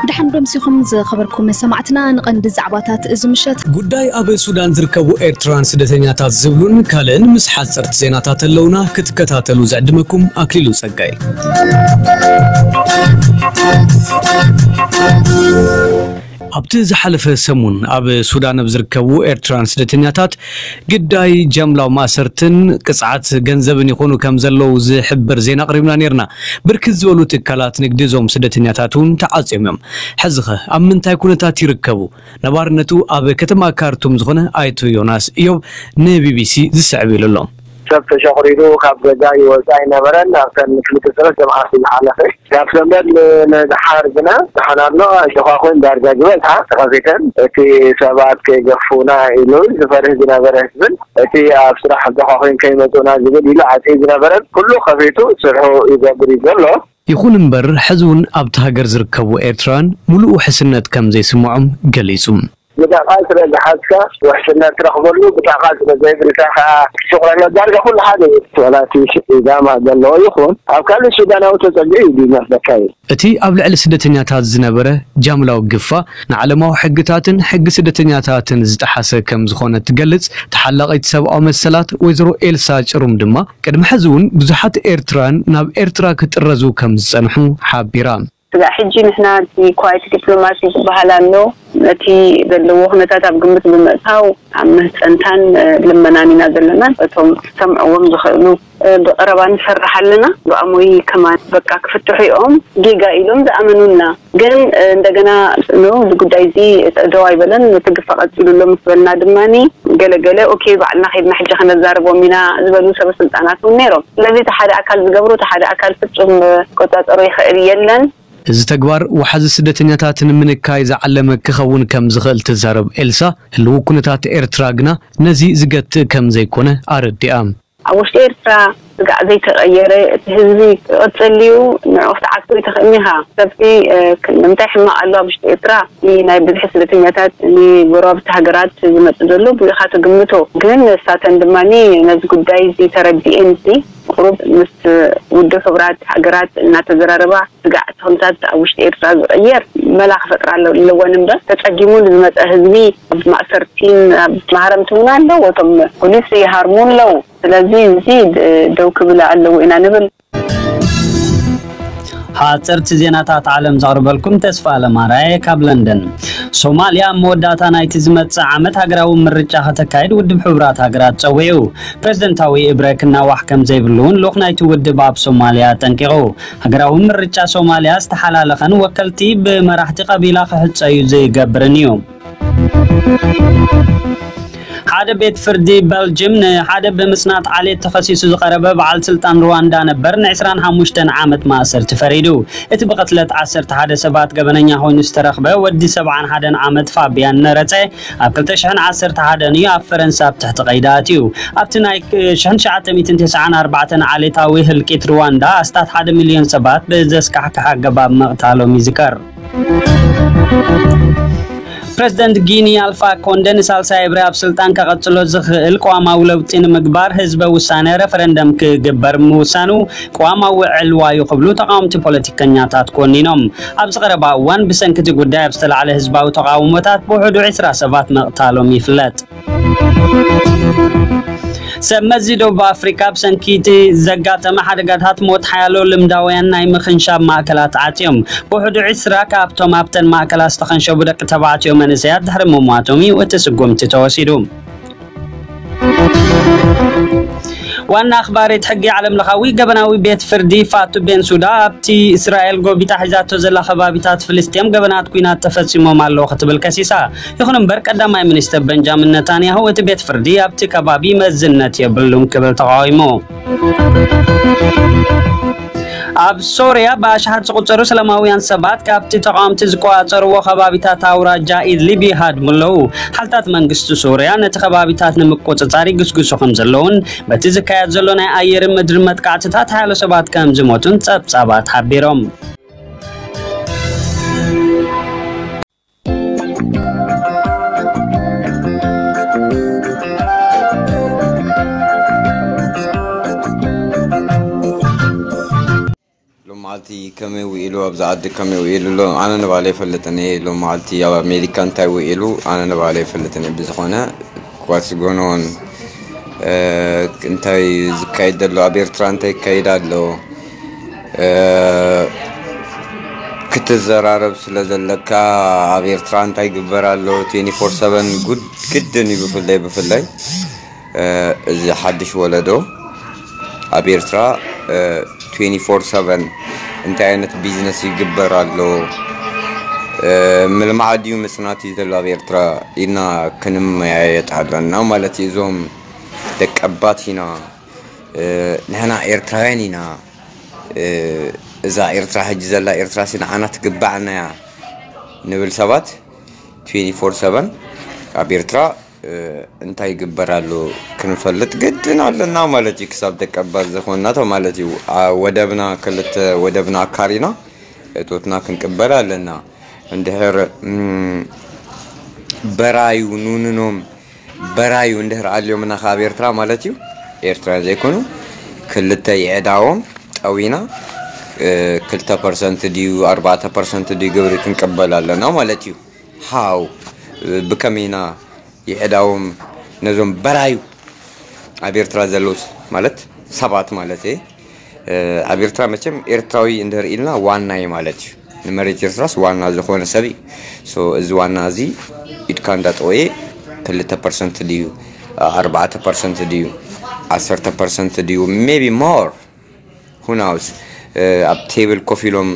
ድሓን ዶ ምሲኹም ዝኸበርኩም ሰማዕትና፣ ንቐንዲ ዛዕባታት እዚ ምሸት። ጉዳይ ኣብ ሱዳን ዝርከቡ ኤርትራን ስደተኛታት ዝብሉን ካልእን ምስ ሓጸርቲ ዜናታት ኣለውና፣ ክትከታተሉ ዝዕድመኩም ኣክሊሉ ጸጋይ። ኣብቲ ዝሓለፈ ሰሙን ኣብ ሱዳን ኣብ ዝርከቡ ኤርትራን ስደተኛታት ግዳይ ጃምላዊ ማእሰርትን ቅጽዓት ገንዘብን ይኾኑ ከም ዘለዉ ዝሕብር ዜና ኣቕሪብና ነይርና። ብርክት ዝበሉ ትካላት ንግዲ እዞም ስደተኛታት እውን ተዓጽዮም እዮም። ሕዚኸ ኣብ ምንታይ ኩነታት ይርከቡ? ነባርነቱ ኣብ ከተማ ካርቱም ዝኾነ ኣይቱ ዮናስ እዮብ ንቢቢሲ ዝስዕብ ኢሉ ኣሎ። ሰብ ተሸቑሪሩ ካብ ገዛ ይወጽእ ኣይነበረን። ኣብተን ክልተ ሰለስተ መዓልቲ ዝሓለፈ ካብ ሰንበት ንድሓር ግና ደሓን ኣሎ። ሸዃኹን ዳርጋ ዝበዝሓ ተኸፊተን፣ እቲ ሰባት ከይገፉና ኢሉ ዝፈርህ ዝነበረ ህዝብን እቲ ኣብ ስራሕ ሸዃኹን ከይመጹና ዝብል ኢሉ ዓጽዩ ዝነበረን ኩሉ ከፊቱ ስርሑ ይገብር እዩ ዘሎ። ይኹን እምበር፣ ሕዚ እውን ኣብቲ ሃገር ዝርከቡ ኤርትራውያን ሙሉእ ውሕስነት ከም ዘይስምዖም ገሊጹ። ብጣዕቃ ስለ ዝሓዝካ ውሕስነት ትረኽበሉ፣ ብጣዕቃ ስለ ዘይብልካ ከዓ ትሽቑረሎ። ዳርጋ ኩሉ ሓደ እዩ። ዋላ እቲ ኢዛማ ዘለዎ ይኹን ኣብ ካልእ ሱዳናዊ ተጸግዒ እዩ ዝመስለካ እዩ። እቲ ኣብ ልዕሊ ስደተኛታት ዝነበረ ጃምላዊ ግፋ ንዓለማዊ ሕግታትን ሕጊ ስደተኛታትን ዝጠሓሰ ከም ዝኾነ ትገልጽ ተሓላቒት ሰብኣዊ መሰላት ወይዘሮ ኤልሳ ጭሩም ድማ ቅድሚ ሕዚ እውን ብዙሓት ኤርትራውያን ናብ ኤርትራ ክጥረዙ ከም ዝጸንሑ ሓቢራ። ስጋዕ ሕጂ ንሕና እቲ ኳይት ዲፕሎማሲ ዝበሃል ኣሎ። ነቲ ዘለዎ ኩነታት ኣብ ግምት ብምእታው ኣብ ምህጸንታን፣ እ፣ ልመናን ኢና ዘለና። እቶም ክሰምዕዎም ዝኽእሉ፣ እ፣ ብቐረባ ንሰርሕ ኣለና። ብኣሞይ ከማን በቃ ክፍትሑ እዮም ጌጋ ኢሎም ዝኣመኑና። ግን፣ እ፣ እንደገና ኖ፣ እዚ ጉዳይ እዚ ደው ኣይበለን፣ እቲ ግፋ ቀጺሉ ኣሎ ምስ በልና ድማኒ ገለ ገለ፣ ኦኬ፣ ባዕልና ኸይድና ሕጂ ከነዛርቦም ኢና ዝበሉ ሰበ ስልጣናት እውን ነይሮም። ስለዚ እቲ ሓደ ኣካል ዝገብሮ እቲ ሓደ ኣካል ፍጹም፣ እ፣ ክቆጻጸሮ ይኽእል የለን። እዚ ተግባር ወሓዚ ስደተኛታት ንምንካይ ዝዓለመ ክኸውን ከም ዝኽእል ትዛረብ ኤልሳ፣ ህልው ኩነታት ኤርትራ ግና ነዚ ዝገትእ ከም ዘይኮነ ኣረዲኣ። ኣብ ውሽጢ ኤርትራ ስጋዕ ዘይተቐየረ፣ እቲ ህዝቢ ክቕጽል ድዩ? ንዑ ክትዓግቶ ኣይትኽእልን ኢኻ። ሰብቲ፣ እ፣ ክ-፣ ንምንታይ ሕማቕ ኣሎ ኣብ ውሽጢ ኤርትራ? ኒ-፣ ናይ ብዝሒ ስደተኛታት ንጎረባብቲ ሃገራት ዝመጽእ ዘሎ ብኡ ኢኻ ትግምቶ። ግን ንሳተን ድማ ነዚ ጉዳይ እዚ ተረዲኤን፣ እዚ ቁሩብ ምስ ውድብ ሕቡራት ሃገራት እናተዘራረባ፣ ስጋዕ እቲ ኩነታት ኣብ ውሽጢ ኤርትራ ዝቕየር መላ ክፈጥራ ኣለወን እምበር፣ ተጸጊሙ ንዝመጸ ህዝቢ ኣብ ማእሰርቲን ኣብ ማህረምቲ እውን ኣለዉ። እቶም ፖሊስ ይሃርሙ ኣለዉ። ስለዚ እዚ ድ-፣ ደው ክብል ኣለዎ ኢና ንብል። ሓጸርቲ ዜናታት ዓለም ዘቕርበልኩም ተስፋ ኣለማራየ ካብ ለንደን። ሶማልያ ኣብ መወዳእታ ናይቲ ዝመጽእ ዓመት ሃገራዊ ምርጫ ከተካይድ ውድብ ሕቡራት ሃገራት ጸዊዑ። ፕሬዝደንታዊ እብረ ክናዋሕ ከም ዘይብሉ እውን ልኡኽ ናይቲ ውድብ ኣብ ሶማልያ ኣጠንቂቑ። ሃገራዊ ምርጫ ሶማልያ ዝተሓላለኸን ወከልቲ ብመራሕቲ ቀቢላ ክሕጸዩ ዝገብርን እዩ። ሓደ ቤት ፍርዲ በልጅም ንሓደ ብምጽናት ዓሌት ተኸሲሱ ዝቐረበ በዓል ስልጣን ሩዋንዳ ነበር ን ዕስራን ሓሙሽተን ዓመት ማእሰርቲ ፈሪዱ። እቲ ብቕትለት ዓሰርተ ሓደ ሰባት ገበነኛ ኮይኑ ዝተረኽበ ወዲ ሰብዓን ሓደን ዓመት ፋቢያን ነረጸ ኣብ ክልተ ሽሕን ዓሰርተ ሓደን እዩ ኣብ ፈረንሳ ኣብ ትሕቲ ቀይዲ ኣትዩ። ኣብቲ ናይ ሽሕን ትሽዓተ ሚእትን ተስዓን ኣርባዕተን ዓሌታዊ ህልቂት ሩዋንዳ ኣስታት ሓደ ሚልዮን ሰባት ብዘስካሕክሕ ኣገባብ ምቕታሎም ይዝከር። ፕረዚደንት ጊኒ ኣልፋ ኮንደ ንሳልሳይ እብሪ ኣብ ስልጣን ከቐጽሎ ዝኽእል ቅዋማዊ ለውጢ ንምግባር ህዝበ ውሳነ፣ ረፈረንደም፣ ክግበር ምውሳኑ ቅዋማዊ ዕልዋ እዩ ክብሉ ተቓወምቲ ፖለቲከኛታት ኮኒኖም። ኣብዚ ቀረባ እዋን ብሰንኪ እቲ ጉዳይ ኣብ ዝተላዕለ ህዝባዊ ተቓውሞታት ብውሕዱ ዕስራ ሰባት ምቕታሎም ይፍለጥ። ሰብ መዚ ደቡብ ኣፍሪካ ብሰንኪ እቲ ዘጋጠመ ሓደጋታት ሞት ሓያሎ ልምዳውያን ናይ ምኽንሻብ ማእከላት ዓጽዮም። ብውሕዱ ዕስራ ካብቶም ኣብተን ማእከላት ዝተኸንሸቡ ደቂ ተባዕትዮ መንእሰያት ድሕሪ ምሟቶም እዩ እቲ ስጉምቲ ተወሲዱ። ዋና ኣኽባሪት ሕጊ ዓለም ለኻዊ ገበናዊ ቤት ፍርዲ ፋቱ ቤንሱዳ ኣብቲ እስራኤል ጎቢጣ ሒዛቶ ዘላ ከባቢታት ፍልስጤም ገበናት ኲናት ተፈጺሞም ኣለዉ ክትብል ከሲሳ። ይኹን እምበር ቀዳማይ ሚኒስትር ቤንጃሚን ነታንያሁ እቲ ቤት ፍርዲ ኣብቲ ከባቢ መዝነት የብሉን ክብል ተቓዊሙ። ኣብ ሶርያ ብኣሽሓት ዝቑጸሩ ሰላማውያን ሰባት ካብቲ ተቓወምቲ ዝቆጻጸርዎ ከባቢታት ኣውራጃ ኢድሊብ ይሃድሙ ኣለዉ። ሓልታት መንግስቲ ሶርያ ነቲ ከባቢታት ንምቁጽጻር ይግስግሱ ከም ዘለዉን በቲ ዝካየድ ዘሎ ናይ ኣየርን ምድርን መጥቃዕትታት ሓያሎ ሰባት ከም ዝሞቱን ጸብጻባት ሓቢሮም። እቲ ከመይ ውዒሉ፣ ኣብዚ ዓዲ ከመይ ውዒሉ ኣሎ ኣነ ንባዕለይ ኣይፈልጥን እየ። ሎም መዓልቲ ኣብ ኣሜሪካ እንታይ ውዒሉ ኣነ ንባዕለይ ኣይፈልጥን እየ። ብዝኾነ፣ what's going on፣ እንታይ ዝካየድ ዘሎ፣ ኣብ ኤርትራ እንታይ ይካየድ ኣሎ ክትዘራረብ ስለ ዘለካ፣ ኣብ ኤርትራ እንታይ ይግበር ኣሎ፣ twenty four seven ግድን እዩ። ብፍላይ ብፍላይ እዚ ሓድሽ ወለዶ ኣብ ኤርትራ twenty four seven እንታይ ዓይነት ቢዝነስ ይግበር ኣሎ፣ ምልማዕ ድዩ ምጽናት እዩ ዘሎ ኣብ ኤርትራ ኢልና ክንመያየጥ ኣለና ማለት እዩ። እዞም ደቀባት ኢና፣ ንሕና ኤርትራውያን ኢና፣ እዛ ኤርትራ ሕጂ ዘላ ኤርትራ ሲ ንዓና ትግባዕና እያ ንብል ሰባት twenty four seven ኣብ ኤርትራ እንታይ ይግበር ኣሎ ክንፈልጥ ግድን ኣለና ማለት እዩ። ክሳብ ደቀባት ዝኾንና ማለት እዩ። ወደብና፣ ክልተ ወደብና ኣካሪና እቶትና ክንቅበል ኣለና። እንድሕር በራዩ ኑንኖም በራዩ እንድሕር ኣልዮምና ካብ ኤርትራ ማለት እዩ፣ ኤርትራውያን ዘይኮኑ ክልተ የዕዳዎም ጠዊና ክልተ ፐርሰንት ድዩ ኣርባዕተ ፐርሰንት ድዩ ግብሪ ክንቅበል ኣለና ማለት እዩ። ሃው ብከመይ ኢና የዕዳዎም ነዞም በራዩ ኣብ ኤርትራ ዘለውስ ማለት ሰባት ማለት እየ። ኣብ ኤርትራ መቸም ኤርትራዊ እንድህር ኢልና ዋና እዩ ማለት እዩ። ንመሬት ኤርትራስ ዋና ዝኾነ ሰብ እዩ። So እዚ ዋና እዚ ኢድካ እንዳጠወየ ክልተ ፐርሰንት ድዩ ኣርባዕተ ፐርሰንት ድዩ ዓሰርተ ፐርሰንት ድዩ maybe more who knows፣ ኣብ ቴብል ኮፍ ኢሎም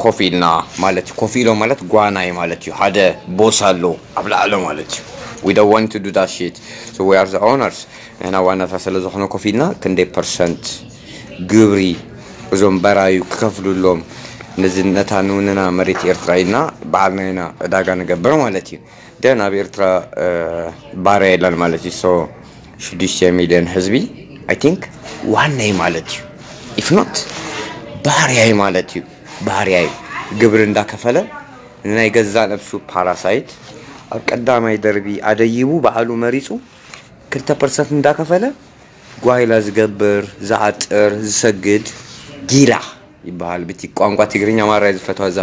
ኮፍ ኢልና ማለት እዩ። ኮፍ ኢሎም ማለት ጓና እዩ ማለት እዩ። ሓደ ቦስ ኣሎ ኣብ ላዕሎ ማለት እዩ። We don't want to do that shit, so we are the owners። ንሕና ዋናታት ስለ ዝኾነ ኮፍ ኢልና ክንደይ ፐርሰንት ግብሪ እዞም በራዩ ክከፍሉሎም፣ ነዚ ነታ ንውንና መሬት ኤርትራ ኢልና በዓልና ኢና ዕዳጋ ንገብር ማለት እዩ። ደን ኣብ ኤርትራ ባርያ የለን ማለት እዩ። So ሽዱሽተ ሚልዮን ህዝቢ I think ዋና እዩ ማለት እዩ። If not ባርያ እዩ ማለት እዩ። ባርያ እዩ። ግብሪ እንዳከፈለ ንናይ ገዛ ነብሱ ፓራሳይት ኣብ ቀዳማይ ደርቢ ኣደይቡ ባዕሉ መሪጹ ክልተ ፐርሰንት እንዳከፈለ ጓይላ ዝገብር፣ ዝዓጥር፣ ዝሰግድ ጊላ ይበሃል። ብቲ ቋንቋ ትግርኛ ማራ እየ ዝፈትዋ። እዛ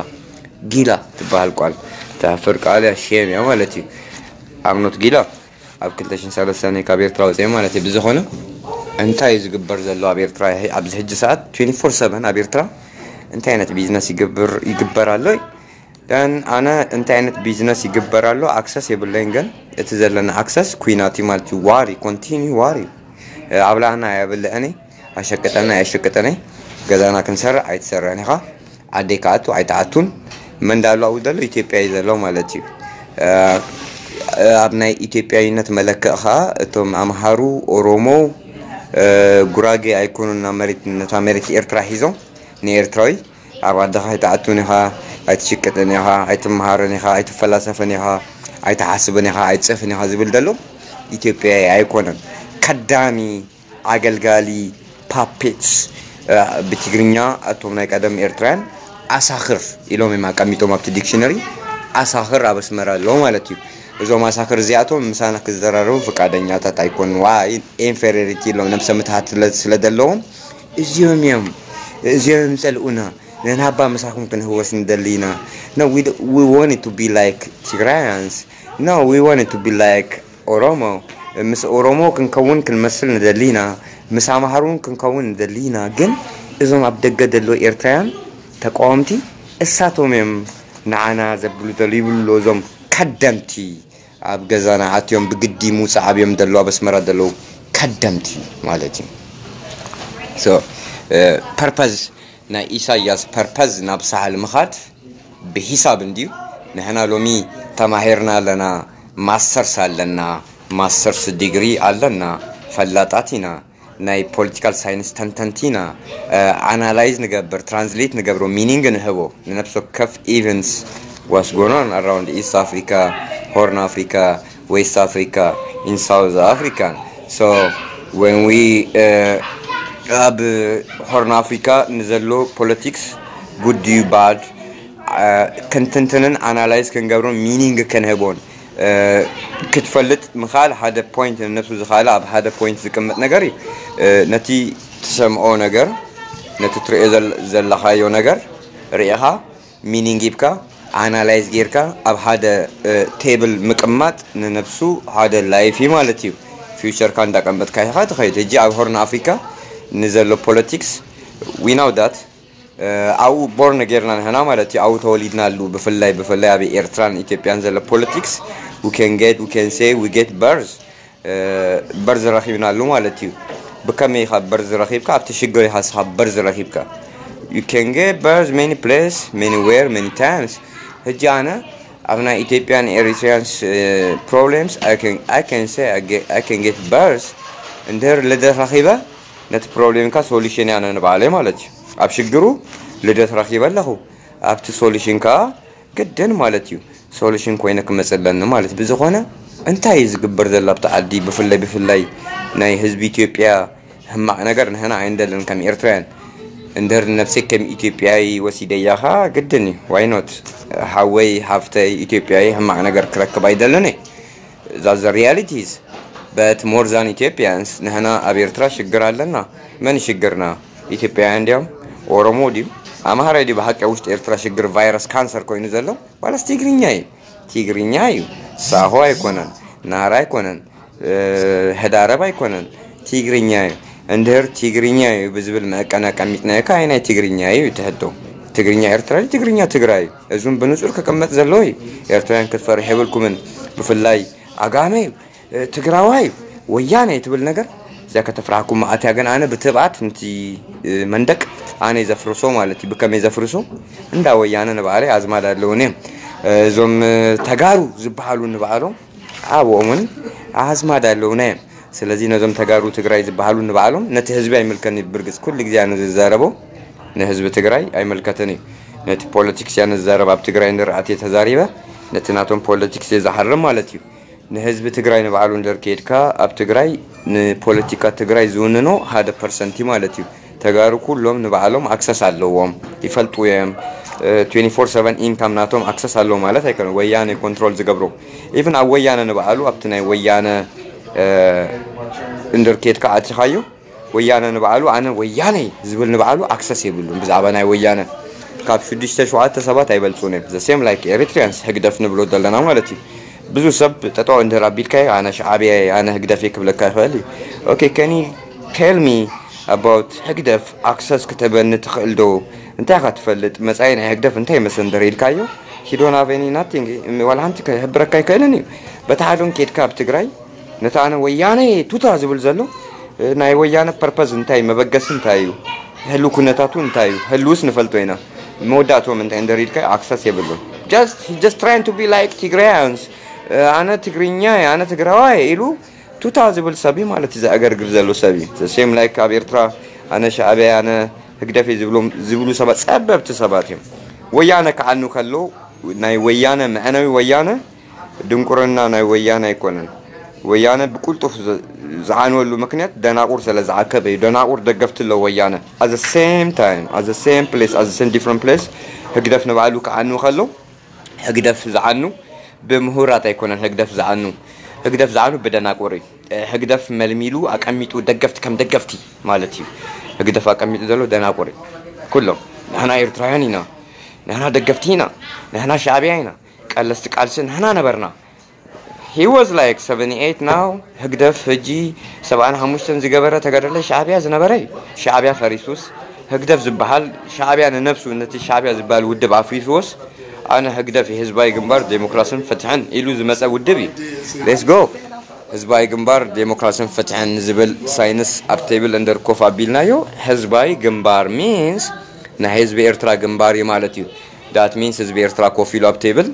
ጊላ ትበሃል ቃል ተፍር ቃል እያ፣ ሼም እያ ማለት እዩ። I'm not ጊላ ኣብ ክልተ ሽሕን ሰለስተን ካብ ኤርትራ ወፅየ ማለት እዩ። ብዝኾነ እንታይ እዩ ዝግበር ዘሎ ኣብ ኤርትራ ኣብዚ ሕጂ ሰዓት twenty four seven ኣብ ኤርትራ እንታይ ዓይነት ቢዝነስ ይግብር ይግበር ኣሎ? ደን ኣነ እንታይ ዓይነት ቢዝነስ ይግበር ኣሎ ኣክሰስ የብለይን። ግን እቲ ዘለና ኣክሰስ ኩናት እዩ ማለት እዩ። ዋር እዩ፣ ኮንቲኒ ዋር እዩ። ኣብላዕና የብልዕኒ፣ ኣሸቅጠና ኣየሸቅጠኒ። ገዛና ክንሰርዕ ኣይትሰርዕን ኢኻ፣ ዓደይ ክኣቱ ኣይትኣቱን። መን ዳሎ ኣብኡ ዘሎ ኢትዮጵያ እዩ ዘሎ ማለት እዩ። ኣብ ናይ ኢትዮጵያዊነት መለክዕ ኸዓ እቶም ኣምሃሩ፣ ኦሮሞ፣ ጉራጌ ኣይኮኑን ናብ መሬት ነታ መሬት ኤርትራ ሒዞም ንኤርትራዊ ኣብ ዓድኻ ኣይትኣቱን ኢኻ፣ ኣይትሽቅጥን ኢኻ፣ ኣይትመሃርን ኢኻ፣ ኣይትፈላሰፍን ኢኻ፣ ኣይትሓስብን ኢኻ፣ ኣይትጽሕፍን ኢኻ ዝብል ዘሎ ኢትዮጵያዊ ኣይኮነን። ከዳሚ፣ ኣገልጋሊ፣ ፓፔትስ፣ ብትግርኛ እቶም ናይ ቀደም ኤርትራውያን ኣሳኽር ኢሎም እዮም ኣቀሚጦም ኣብቲ ዲክሽነሪ። ኣሳኽር ኣብ ኣስመራ ኣለዉ ማለት እዩ። እዞም ኣሳኽር እዚኣቶም ምሳና ክዘራረቡ ፍቃደኛታት ኣይኮኑን። ዋ ኢንፌሪሪቲ ኢሎም ነብሰ ምትሃት ስለ- ስለ ዘለዎም እዚኦም እዮም እዚኦም እዮም ጸልኡና። ንሕና እባ ምሳኹም ክንህወስ ንደሊ ኢና። No, we, d- we wanted to be like Tigrayans. No, we wanted to be like Oromo. ምስ ኦሮሞ ክንከውን ክንመስል ንደሊ ኢና። ምስ ኣምሓሩ እውን ክንከውን ንደሊ ኢና። ግን እዞም ኣብ ደገ ዘለዉ ኤርትራውያን ተቃወምቲ እሳቶም እዮም ንዓና ዘብሉ ዘለዉ ይብሉ ኣለዉ እዞም ከደምቲ። ኣብ ገዛና ኣትዮም ብግዲ ምውጻእ ኣብዮም ዘለዉ ኣብ ኣስመራ ዘለዉ ከደምቲ ማለት እዩ። So ፐርፐዝ ናይ ኢሳያስ ፐርፐዝ ናብ ሳሕል ምኻድ ብሂሳብ እንድዩ። ንሕና ሎሚ ተማሂርና ኣለና፣ ማስተርስ ኣለና፣ ማስተርስ ዲግሪ ኣለና፣ ፈላጣት ኢና፣ ናይ ፖለቲካል ሳይንስ ተንተንቲ ኢና። ኣናላይዝ ንገብር፣ ትራንስሌት ንገብሮ፣ ሚኒንግ ንህቦ ንነፍሲ ወከፍ ኢቨንትስ። What's going on around East Africa, Horn Africa, West Africa, in South Africa? So when we ኣብ ሆርን ኣፍሪካ ንዘሎ ፖለቲክስ ጉድ ድዩ ባድ ክንትንትንን ኣናላይዝ ክንገብሮን ሚኒንግ ክንህቦን ክትፈልጥ ምኻል ሓደ ፖይንት ንነብሱ ዝኻለ ኣብ ሓደ ፖይንት ዝቅመጥ ነገር እዩ። ነቲ ትሰምዖ ነገር ነቲ ትሪኦ ዘል- ዘለኻዮ ነገር ርኢኻ ሚኒንግ ሂብካ ኣናላይዝ ጌርካ ኣብ ሓደ ቴብል ምቅማጥ ንነብሱ ሓደ ላይፍ እዩ ማለት እዩ። ፊውቸርካ እንዳቀመጥካ ኢኻ ትኸይድ። ሕጂ ኣብ ሆርን ኣፍሪካ ንዘሎ ፖለቲክስ we know that ኣብኡ ቦርን ጌርና ንሕና ማለት እዩ። ኣብኡ ተወሊድናሉ። ብፍላይ ብፍላይ ኣብ ኤርትራን ኢትዮጵያን ዘሎ ፖለቲክስ we can get we can say we get birth በርዝ ረኺብናሉ ማለት እዩ። ብከመይ ኢኻ በርዝ ረኺብካ? ኣብቲ ሽግር ኢኻ ንስኻ በርዝ ረኺብካ። You can get birth many place, many where, many times. ሕጂ ኣነ ኣብ ናይ ኢትዮጵያን ኤሪትሪያንስ problems I can I can say I get I can get birth እንድህር ልደት ረኺበ ነቲ ፕሮብሌምካ ሶሉሽን ያነ ንባዕለይ ማለት እዩ። ኣብ ሽግሩ ልደት ረኺበ ኣለኹ። ኣብቲ ሶሉሽን ከኣ ግድን ማለት እዩ ሶሉሽን ኮይነ ክመጽእ ኣለኒ ማለት እዩ። ብዝኾነ እንታይ እዩ ዝግበር ዘሎ ኣብቲ ዓዲ? ብፍላይ ብፍላይ ናይ ህዝቢ ኢትዮጵያ ሕማቕ ነገር ንሕና ኣይንደልን ከም ኤርትራውያን። እንድሕር ነብሰይ ከም ኢትዮጵያዊ ወሲደያ ኸኣ ግድን እዩ። ዋይ ኖት? ሓወይ ሓፍተይ ኢትዮጵያዊ ሕማቕ ነገር ክረክብ ኣይደልን እየ። That's the realities. But more than Ethiopians ንሕና ኣብ ኤርትራ ሽግር ኣለና። መን ሽግርና? ኢትዮጵያውያን እንዲዮም? ኦሮሞ ድዩ? ኣምሃራይ ድዩ ብሓቂ ኣብ ውሽጢ ኤርትራ ሽግር ቫይረስ ካንሰር ኮይኑ ዘሎ? ዋላስ ትግርኛ እዩ? ትግርኛ እዩ። ሳሆ ኣይኮነን፣ ናራ ኣይኮነን፣ ሕዳረብ ኣይኮነን፣ ትግርኛ እዩ። እንድህር ትግርኛ እዩ ብዝብል መዕቀን ኣቀሚጥናዮ ከኣ ናይ ትግርኛ እዩ እቲ ሕቶ። ትግርኛ ኤርትራ ድዩ ትግርኛ ትግራይ እዩ? እዙም ብንጹር ክቅመጥ ዘለዎ እዩ። ኤርትራውያን ክትፈርሕ የብልኩምን። ብፍላይ ኣጋመ እዩ፣ ትግራዋይ እዩ፣ ወያነ እዩ ትብል ነገር እዚኣ ከተፍርሓኩም መዓት እያ። ግን ኣነ ብትብዓት ንቲ መንደቅ ኣነ ዘፍርሶ ማለት እዩ። ብከመይ ዘፍርሶ? እንዳ ወያነ ንባዕለይ ኣዝማድ ኣለውኒ እዮም። እዞም ተጋሩ ዝበሃሉ ንባዕሎም ኣብኦምን ኣዝማድ ኣለውና እዮም። ስለዚ ነዞም ተጋሩ ትግራይ ዝበሃሉ ንባዕሎም ነቲ ህዝቢ ኣይምልከን እዩ። ብርግፅ ኩሉ ግዜ ኣነ ዝዛረቦ ንህዝቢ ትግራይ ኣይምልከትን እዩ። ነቲ ፖለቲክስ እያ ንዛረብ። ኣብ ትግራይ ንርኣት እየ ተዛሪበ ነቲ ናቶም ፖለቲክስ እየ ዝሓርም ማለት እዩ። ንህዝቢ ትግራይ ንባዕሉ እንድር ከድካ ኣብ ትግራይ ንፖለቲካ ትግራይ ዝውንኖ ሓደ ፐርሰንቲ ማለት እዩ። ተጋሩ ኩሎም ንባዕሎም ኣክሰስ ኣለዎም፣ ይፈልጡ እዮም። ትዌንቲ ፎር ሰቨን ኢንካም ናቶም ኣክሰስ ኣለዎ ማለት ኣይኮነ ወያነ ኮንትሮል ዝገብሮ። ኢቭን ኣብ ወያነ ንባዕሉ ኣብቲ ናይ ወያነ እንድር ከድካ ኣትኻዮ ወያነ ንባዕሉ ኣነ ወያነይ ዝብል ንባዕሉ ኣክሰስ የብሉን ብዛዕባ ናይ ወያነ። ካብ ሽዱሽተ ሸውዓተ ሰባት ኣይበልፁን እዮም። The same like Eritreans ህግደፍ ንብሎ ዘለና ማለት እዩ። ብዙ ሰብ ጠጠው እንድር ኣቢልካዮ ኣነ ሻዕብያ እየ፣ ኣነ ህግደፍ እየ ክብለካ ይኽእል እዩ። Okay, can you tell me about ህግደፍ ኣክሰስ ክትህበኒ ትኽእል ዶ? እንታይ ኢኻ ትፈልጥ? መጻኢ ናይ ህግደፍ እንታይ ይመስል እንድር ኢልካዮ he don't have any nothing ዋላ ሓንቲ ክሕብረካ ኣይክእልን እዩ። በቲ ሓደን ከድካ ኣብ ትግራይ ነቲ ኣነ ወያነ ቱታ ዝብል ዘሎ ናይ ወያነ ፐርፐዝ እንታይ መበገሲ እንታይ እዩ? ህሉ ኩነታቱ እንታይ እዩ? ህሉውስ ንፈልጦ ኢና። መወዳእትኦም እንታይ እንደሪድካ ኣክሰስ የብሉን። Just he just trying to be like Tigrayans. ኣነ ትግርኛ እየ፣ ኣነ ትግራዋይ ኢሉ ቱታ ዝብል ሰብ እዩ ማለት እዩ። ዘእገርግር ዘሎ ሰብ እዩ። The same like ኣብ ኤርትራ ኣነ ሻዕብያ ኣነ ህግደፍ እየ ዝብሎም ዝብሉ ሰባት ጸበብቲ ሰባት እዮም። ወያነ ክዓኑ ከሎ ናይ ወያነ መዕነዊ ወያነ ድንቁርና ናይ ወያነ ኣይኮነን። ወያነ ብቁልጡፍ ዝ- ዝዓንወሉ ምክንያት ደናቁር ስለ ዝዓከበ እዩ። ደናቁር ደገፍቲ ኣለዎ ወያነ። At the same time, at the same place, at the same different place ህግደፍ ንባዕሉ ክዓኑ ከሎ ህግደፍ ዝዓኑ ብምሁራት ኣይኮነን። ህግደፍ ዝዓኑ ህግደፍ ዝዓኑ ብደናቁር እዩ። ህግደፍ መልሚሉ ኣቀሚጡ ደገፍቲ ከም ደገፍቲ ማለት እዩ። ህግደፍ ኣቀሚጡ ዘሎ ደናቁር እዩ። ኩሎም ንሕና ኤርትራውያን ኢና፣ ንሕና ደገፍቲ ኢና፣ ንሕና ሻዕብያ ኢና፣ ቀለስቲ ቃልሲ ንሕና ነበርና። He was like seventy eight now. ህግደፍ ሕጂ ሰብዓን ሓሙሽተን ዝገበረ ተጋደላይ ሻዕብያ ዝነበረ እዩ። ሻዕብያ ፈሪሱስ ህግደፍ ዝበሃል ሻዕብያ ንነብሱ ነቲ ሻዕብያ ዝበሃል ውድብ ኣፍሪስዎስ ኣነ ህግደፍ ህዝባዊ ግንባር ዴሞክራስን ፍትሕን ኢሉ ዝመፀ ውድብ እዩ። Let's go. ህዝባዊ ግንባር ዴሞክራስን ፍትሕን ዝብል ሳይንስ ኣብ ቴብል እንደር ኮፍ ኣቢልናዮ ህዝባዊ ግንባር ሚንስ ናይ ህዝቢ ኤርትራ ግንባር እዩ ማለት እዩ። That means ህዝቢ ኤርትራ ኮፍ ኢሉ ኣብ ቴብል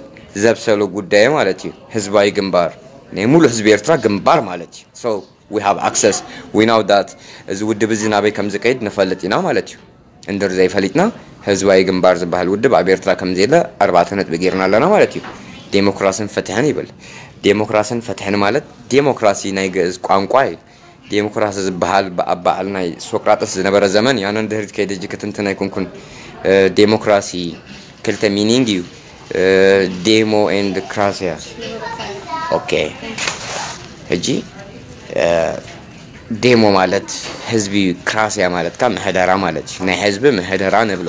ዘብሰሎ ጉዳይ ማለት እዩ። ህዝባዊ ግንባር ናይ ሙሉእ ህዝቢ ኤርትራ ግንባር ማለት እዩ። So we have access, we know that እዚ ውድብ እዚ ናበይ ከም ዝቀይድ ንፈልጥ ኢና ማለት እዩ። እንድር ዘይፈሊጥና ህዝባዊ ግንባር ዝበሃል ውድብ ኣብ ኤርትራ ከም ዘየለ ኣርባዕተ ነጥቢ ጌርና ኣለና ማለት እዩ። ዴሞክራስን ፍትሕን ይብል። ዴሞክራስን ፍትሕን ማለት ዴሞክራሲ ናይ ግእዝ ቋንቋ እዩ። ዴሞክራሲ ዝበሃል ብኣባዓል ናይ ሶቅራጠስ ዝነበረ ዘመን እዩ። ኣነ ንድሕሪት ከይደ እጂ ክትንትን ኣይኮንኩን። ዴሞክራሲ ክልተ ሚኒንግ እዩ። ዴሞ ኤንድ ክራሲያ። ኦኬ፣ ሕጂ ዴሞ ማለት ህዝቢ፣ ክራስያ ማለት ካብ ምሕደራ ማለት እዩ። ናይ ህዝቢ ምሕደራ ንብሎ።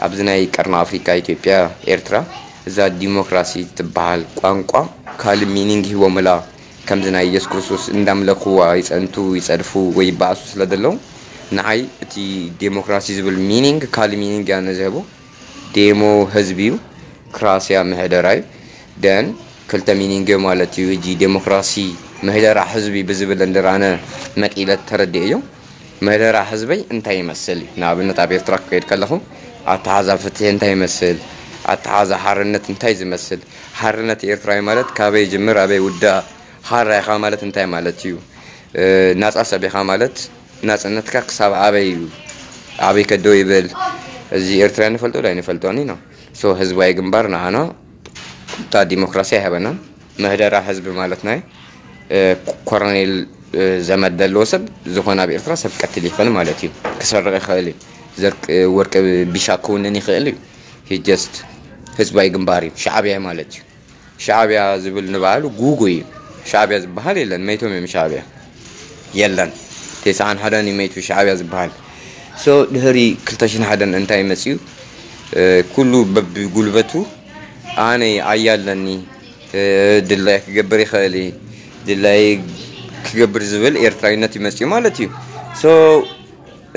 ኣብዚ ናይ ቀርኒ ኣፍሪካ፣ ኢትዮጵያ፣ ኤርትራ፣ እዛ ዲሞክራሲ ትበሃል ቋንቋ ካልእ ሚኒንግ ሂቦምላ። ከምዚ ናይ ኢየሱስ ክርስቶስ እንዳምለኽዋ ይጸንቱ፣ ይጸድፉ ወይ ይበኣሱ ስለ ዘለዉ፣ ንዓይ እቲ ዴሞክራሲ ዝብል ሚኒንግ ካልእ ሚኒንግ እያ ነዝህቦ። ዴሞ ህዝቢ እዩ፣ ክራስያ ምሕደራ እዩ። ደን ክልተ ሚኒንግ ማለት እዩ። ሕጂ ዴሞክራሲ ምህደራ ህዝቢ ብዝብል እንድር ኣነ መቂለት ተረድኤዮ። ምህደራ ህዝበይ እንታይ ይመስል እዩ? ንኣብነት ኣብ ኤርትራ ክከይድ ከለኹ ኣተሓዛ ፍትሒ እንታይ ይመስል? ኣተሓዛ ሓርነት እንታይ ዝመስል? ሓርነት ኤርትራዊ ማለት ካበይ ይጅምር ኣበይ ውዳእ? ሓራ ኢኻ ማለት እንታይ ማለት እዩ? ናጻ ሰብ ኢኻ ማለት ናጽነትካ ክሳብ ኣበይ እዩ? ኣበይ ከዶ ይብል? እዚ ኤርትራ ንፈልጦ ዶ ኣይንፈልጦን ኢና። ሶ ህዝባዊ ግንባር ንዓና እታ ዲሞክራሲ ኣይሃበናን። ምህደራ ህዝቢ ማለት ናይ ኮሮኔል ዘመድ ዘለዎ ሰብ ዝኾነ ኣብ ኤርትራ ሰብ ቀትል ይኽእል ማለት እዩ። ክሰርቕ ይኽእል እዩ። ዘርቅ ወርቂ ቢሻ ክውንን ይኽእል እዩ። ጀስት ህዝባዊ ግንባር እዩ፣ ሻዕብያ ማለት እዩ። ሻዕብያ ዝብል ንባዕሉ ጉጉ እዩ። ሻዕብያ ዝበሃል የለን፣ መይቶም እዮም። ሻዕብያ የለን። ተስዓን ሓደን እዩ መይቱ ሻዕብያ ዝበሃል። ሶ ድሕሪ ክልተ ሽሕን ሓደን እንታይ መፅዩ? ኩሉ በብጉልበቱ ኣነ ኣያ ኣለኒ፣ ድላይ ክገብር ይኽእል፣ ድላይ ክገብር ዝብል ኤርትራዊነት ይመፅዩ ማለት እዩ። ሶ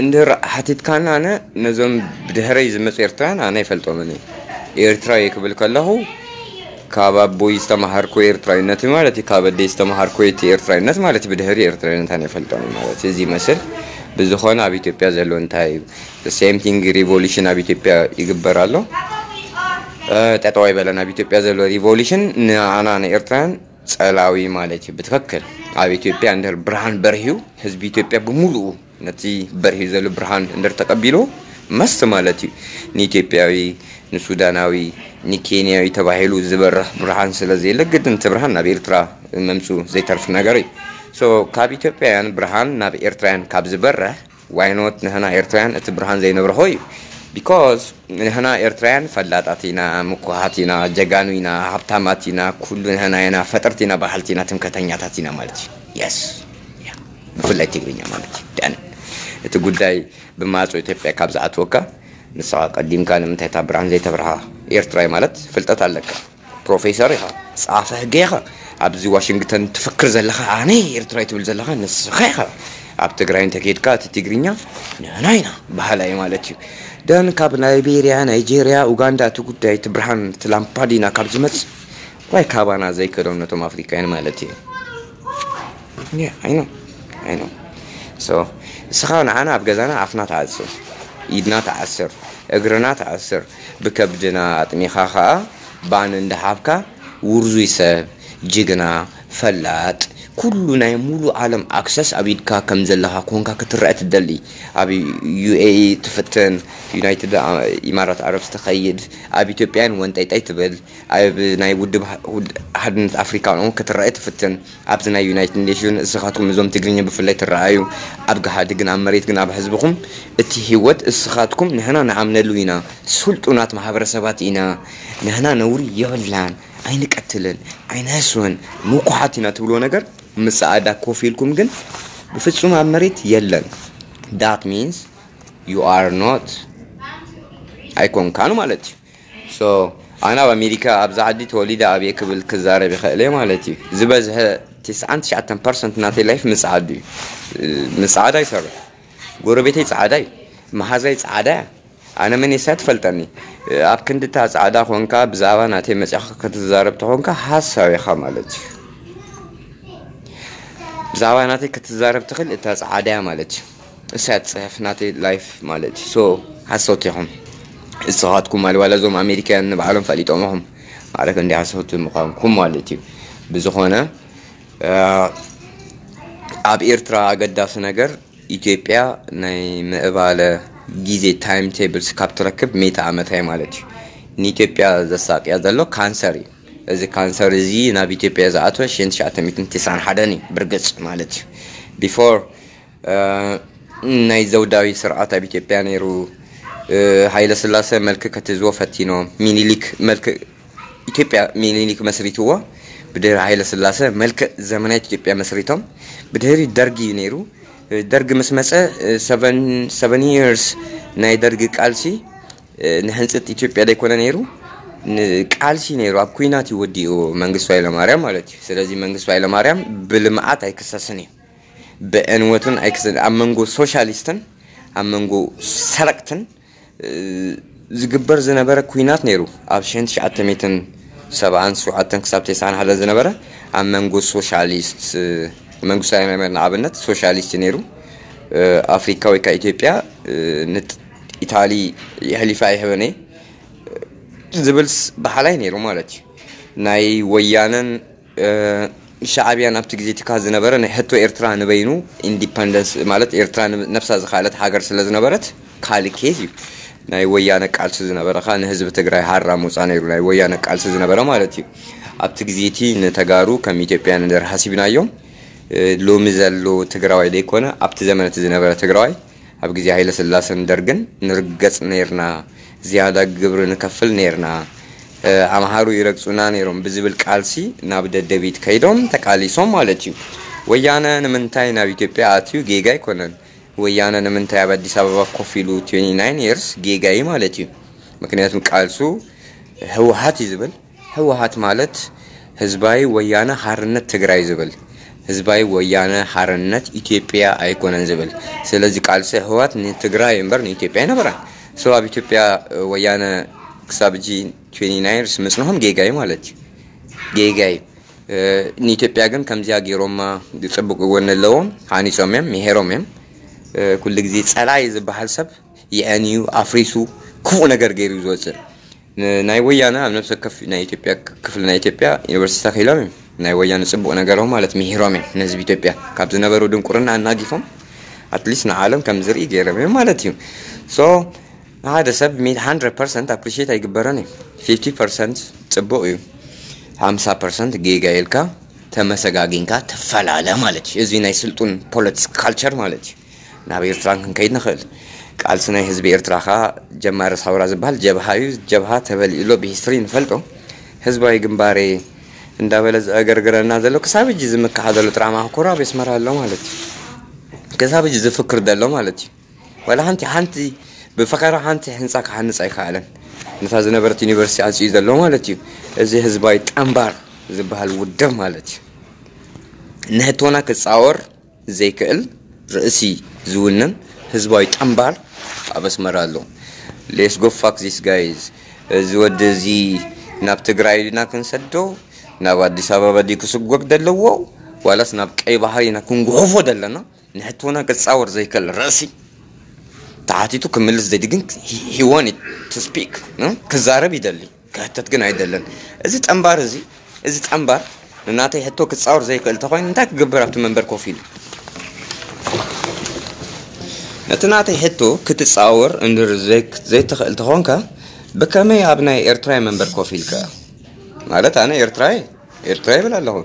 እንድር ሓቲትካና፣ ኣነ ነዞም ብድሕረይ ዝመፁ ኤርትራውያን ኣነ ይፈልጦምን እየ። ኤርትራዊ ክብል ከለኹ ካብ ኣቦይ ዝተማሃርኩ ኤርትራዊነት ማለት እዩ፣ ካብ ኣደይ ዝተማሃርኩ እቲ ኤርትራዊነት ማለት እዩ። ብድሕሪ ኤርትራዊነት ኣነ ይፈልጦም ማለት እዩ። እዚ ይመስል። ብዝኾነ ኣብ ኢትዮጵያ ዘሎ እንታይ እዩ? ሴም ቲንግ ሪቮሉሽን ኣብ ኢትዮጵያ ይግበር ኣሎ። ጠጠው ኣይበለን። ኣብ ኢትዮጵያ ዘሎ ሪቮሉሽን ንኣና ንኤርትራውያን ጸላዊ ማለት እዩ። ብትክክል ኣብ ኢትዮጵያ እንድር ብርሃን በርሂዩ ህዝቢ ኢትዮጵያ ብምሉኡ ነቲ በርሂ ዘሎ ብርሃን እንድር ተቀቢሉ መስት ማለት እዩ። ንኢትዮጵያዊ፣ ንሱዳናዊ፣ ንኬንያዊ ተባሂሉ ዝበርህ ብርሃን ስለ ዘየለ ግድን እቲ ብርሃን ናብ ኤርትራ መምፅኡ ዘይተርፍ ነገር እዩ። ሶ ካብ ኢትዮጵያውያን ብርሃን ናብ ኤርትራውያን ካብ ዝበርህ ዋይኖት ንህና ኤርትራውያን እቲ ብርሃን ዘይነብርሆ እዩ። ቢኮዝ ንህና ኤርትራውያን ፈላጣት ኢና፣ ምኩሃት ኢና፣ ጀጋኑ ኢና፣ ሃብታማት ኢና፣ ኩሉ ንህና ኢና፣ ፈጠርቲ ኢና፣ በሃልቲ ኢና፣ ትምከተኛታት ኢና ማለት እዩ። የስ ብፍላይ ትግርኛ ማለት እዩ። ደን እቲ ጉዳይ ብማዕጾ ኢትዮጵያ ካብ ዝኣትወካ ንስኻ ቀዲምካ ንምንታይ እታ ብርሃን ዘይተብርሃ? ኤርትራዊ ማለት ፍልጠት ኣለካ፣ ፕሮፌሰር ኢኻ፣ ጻፈ ህገ ኢኻ። ኣብዚ ዋሽንግተን ትፍክር ዘለኻ ኣነ ኤርትራዊ ትብል ዘለኻ ንስኻ ኢኻ። ኣብ ትግራይ እንተኬድካ እቲ ትግርኛ ንህና ኢና በሃላይ ማለት እዩ። ደን ካብ ላይቤሪያ፣ ናይጄሪያ፣ ኡጋንዳ እቲ ጉዳይ እቲ ብርሃን እቲ ላምፓዲና ካብ ዝመጽእ ዋይ ካባና ዘይከዶም ነቶም ኣፍሪካውያን ማለት እዩ። Yeah, I know. I know. So እስኻ ንዓና ኣብ ገዛና ኣፍና ተዓጽር፣ ኢድና ተዓስር፣ እግርና ተዓስር፣ ብከብድና ኣጥሚኻ ኸኣ ባን እንዳሃብካ ውርዙይ ሰብ፣ ጅግና፣ ፈላጥ፣ ኩሉ ናይ ሙሉ ዓለም ኣክሰስ ኣብ ኢድካ ከም ዘለኻ ኮንካ ክትረአ ትደሊ። ኣብ ዩ ኤ ኢ ትፍትን፣ ዩናይትድ ኢማራት ዓረብ ትኸይድ፣ ኣብ ኢትዮጵያን ወንጠይጠይ ትብል፣ ኣብ ናይ ውድብ ሓድነት ኣፍሪካ እውን ክትረአ ትፍትን። ኣብዚ ናይ ዩናይትድ ኔሽን እስኻትኩም እዞም ትግርኛ ብፍላይ ትረኣዩ፣ ኣብ ገሃዲ ግን ኣብ መሬት ግን ኣብ ህዝብኹም እቲ ህይወት እስኻትኩም ንሕና ንኣምነሉ ኢና፣ ስልጡናት ማህበረሰባት ኢና፣ ንሕና ነውሪ የብልናን፣ ኣይንቀትልን፣ ኣይንህስውን፣ ምኩሓት ኢና ትብልዎ ነገር ምስ ጸዓዳ ኮፍ ኢልኩም ግን ብፍጹም ኣብ መሬት የለን። That means you are not ኣይኮንካን ማለት እዩ። So ኣነ ኣብ ኣሜሪካ ኣብዛ ዓዲ ተወሊደ ኣብየ ክብል ክዛረብ ይኽእል እየ ማለት እዩ። ዝበዝሐ ትስዓን ትሽዓተን ፐርሰንት ናተይ ላይፍ ምጽዓዱ እዩ። ምጽዓድ ኣይሰርሕ። ጎረቤተይ ጸዓዳ እዩ። መሓዛይ ጸዓዳ እያ። ኣነ መን እየ ትፈልጠኒ። ኣብ ክንድታ ጸዓዳ ኮንካ ብዛዕባ ናተይ መጺኻ ክትዛረብ ተኾንካ ሓሳዊ ኢኻ ማለት እዩ። ብዛዕባ ናተይ ክትዛረብ ትኽእል እታ ጸዓዳ እያ ማለት እዩ። እሳ እያ ትጽሕፍ ናተይ ላይፍ ማለት እዩ። ሶ ሓሶት ኢኹም እስኻትኩም ማለት ዋላ እዞም ኣሜሪካውያን ንባዕሎም ፈሊጦም ኢኹም ማለት እንዲ ሓሶት ምዃንኩም ማለት እዩ። ብዝኾነ ኣብ ኤርትራ ኣገዳሲ ነገር ኢትዮጵያ ናይ ምዕባለ ግዜ ታይም ቴብልስ ካብ ትረክብ ሚእቲ ዓመት እያ ማለት እዩ። ንኢትዮጵያ ዘሳቅያ ዘሎ ካንሰር እዩ። እዚ ካንሰር እዚ ናብ ኢትዮጵያ ዝኣተወ ሽሕን ትሽዓተ ሚእትን ተስዓን ሓደን እዩ ብርግጽ ማለት እዩ። ቢፎር ናይ ዘውዳዊ ስርዓት ኣብ ኢትዮጵያ ነይሩ። ሃይለ ስላሰ መልክ ክትህዝቦ ፈቲኖም። ሚኒሊክ መልክ ኢትዮጵያ ሚኒሊክ መስሪትዎ። ብድህሪ ሃይለ ስላሰ መልክዕ ዘመናዊት ኢትዮጵያ መስሪቶም። ብድህሪ ደርጊ እዩ ነይሩ። ደርግ ምስ መጸ seven years ናይ ደርግ ቃልሲ ንሕንጽት ኢትዮጵያ ደይኮነ ነይሩ፣ ቃልሲ ነይሩ። ኣብ ኩናት ይወዲኡ መንግስቱ ኃይለማርያም ማለት እዩ። ስለዚ መንግስቱ ኃይለማርያም ብልምዓት ኣይክሰስን እዩ፣ ብዕንወትን ኣይክሰስን። ኣብ መንጎ ሶሻሊስትን ኣብ መንጎ ሰረቅትን ዝግበር ዝነበረ ኩናት ነይሩ። ኣብ ሽሕን ትሽዓተ ሚእትን ሰብዓን ሸውዓተን ክሳብ ተስዓን ሓደን ዝነበረ ኣብ መንጎ ሶሻሊስት፣ መንግስቱ ኃይለማርያም ንኣብነት ሶሻሊስት ነይሩ። ኣፍሪካ ወይ ከዓ ኢትዮጵያ ንኢታሊ የሕሊፋ ኣይህበን እየ ዝብል በሓላይ ነይሩ ማለት እዩ። ናይ ወያነን ሻዕብያን ኣብቲ ግዜ ትካ ዝነበረ ናይ ሕቶ ኤርትራ ንበይኑ ኢንዲፐንደንስ ማለት ኤርትራ ነብሳ ዝካለት ሃገር ስለ ዝነበረት ካልእ ኬዝ እዩ። ናይ ወያነ ቃልሲ ዝነበረ ካ ንህዝቢ ትግራይ ሃራ ምውፃ ነይሩ ናይ ወያነ ቃልሲ ዝነበረ ማለት እዩ። ኣብቲ ግዜ እቲ ንተጋሩ ከም ኢትዮጵያ ንደር ሓሲብናዮም። ሎሚ ዘሎ ትግራዋይ ዘይኮነ ኣብቲ ዘመን እቲ ዝነበረ ትግራዋይ ኣብ ግዜ ሃይለ ስላሰን ደርግን ንርገጽ ነይርና፣ ዝያዳ ግብሪ ንከፍል ነይርና፣ ኣምሃሩ ይረግጹና ነይሮም ብዝብል ቃልሲ ናብ ደደቢት ከይዶም ተቃሊሶም ማለት እዩ። ወያነ ንምንታይ ናብ ኢትዮጵያ ኣትዩ ጌጋ ኣይኮነን። ወያነ ንምንታይ ኣብ ኣዲስ ኣበባ ኮፍ ኢሉ twenty nine years ጌጋ እዩ ማለት እዩ። ምክንያቱም ቃልሱ ህወሓት እዩ ዝብል። ህወሓት ማለት ህዝባዊ ወያነ ሓርነት ትግራይ ዝብል፣ ህዝባዊ ወያነ ሓርነት ኢትዮጵያ ኣይኮነን ዝብል። ስለዚ ቃልሲ ህወሓት ንትግራይ እምበር ንኢትዮጵያ ኣይነበረን። So ኣብ ኢትዮጵያ ወያነ ክሳብ እጂ twenty nine years ምጽንሖም ጌጋ እዩ ማለት እዩ። ጌጋ እዩ። ንኢትዮጵያ ግን ከምዚኣ ገይሮማ፣ ጽቡቅ ጎኒ ኣለዎም። ሃኒጾም እዮም፣ ምሄሮም እዮም። ኩሉ ግዜ ጸላኢ ዝበሃል ሰብ የዕንዩ ኣፍሪሱ ክፉእ ነገር ገይሩ እዩ ዝወፅእ። ናይ ወያነ ኣብ ነብሰ ከፍ ናይ ኢትዮጵያ ክፍሊ ናይ ኢትዮጵያ ዩኒቨርሲቲ ተኺሎም እዮም። ናይ ወያነ ጽቡቅ ነገሮም ማለት ምሂሮም እዮም ንህዝቢ ኢትዮጵያ ካብ ዝነበሩ ድንቁርና ኣናጊፎም ኣትሊስት ንዓለም ከም ዝርኢ ገይሮም እዮም ማለት እዩ። So ንሓደ ሰብ ሚት hundred percent ኣፕሪሺየት ኣይግበረን እዩ። Fifty percent ጽቡቅ እዩ፣ ሓምሳ percent ጌጋ ኢልካ ተመሰጋጊንካ ትፈላለ ማለት እዩ። እዚ ናይ ስልጡን ፖለቲክስ ካልቸር ማለት እዩ። ናብ ኤርትራን ክንከይድ ንኽእል። ቃልሲ ናይ ህዝቢ ኤርትራ ኸኣ ጀማሪ ሳውራ ዝበሃል ጀብሃ እዩ። ጀብሃ ተበሊኡ ኣሎ ብሂስትሪ ንፈልጦ። ህዝባዊ ግንባሬ እንዳበለ ዘእገርግረና ዘሎ ክሳብ እጂ ዝምካሓ ዘሎ ጥራማ ኮራ ኣብ ኣስመራ ኣሎ ማለት እዩ። ክሳብ እጂ ዝፍክር ዘሎ ማለት እዩ። ዋላ ሓንቲ ሓንቲ ብፈኸራ ሓንቲ ህንፃ ክሓንፅ ኣይከኣለን። ነታ ዝነበረት ዩኒቨርሲቲ ኣፅዩ ዘሎ ማለት እዩ። እዚ ህዝባዊ ጠንባር ዝበሃል ውድብ ማለት እዩ። ንህቶና ክፃወር ዘይክእል ርእሲ ዝውንን ህዝባዊ ጠንባር ኣብ ኣስመራ ኣሎ። Let's go fuck this guys። እዚ ወዲ እዚ ናብ ትግራይ ኢና ክንሰዶ፣ ናብ ኣዲስ ኣበባ ድዩ ክስጎግ ዘለዎ ዋላስ ናብ ቀይ ባሕሪ ኢና ክንጉሕፎ ዘለና? ንሕቶና ክፃወር ዘይክእል ርእሲ ተሓቲቱ ክምልስ ዘዲ ግን he wanted to speak ክዛረብ ይደሊ። ክሕተት ግን ኣይደለን። እዚ ጠንባር እዚ እዚ ጠንባር ንናተይ ሕቶ ክጻወር ዘይክእል ተኾይኑ እንታይ ክገብር ኣብቲ መንበር ኮፍ ኢሉ? ነቲ ናተይ ሕቶ ክትጻወር እንድር ዘይክ- ዘይትኽእል ተኾንካ ብከመይ ኣብ ናይ ኤርትራይ መንበር ኮፍ ኢልካ? ማለት ኣነ ኤርትራይ ኤርትራ ይብል ኣለኹ።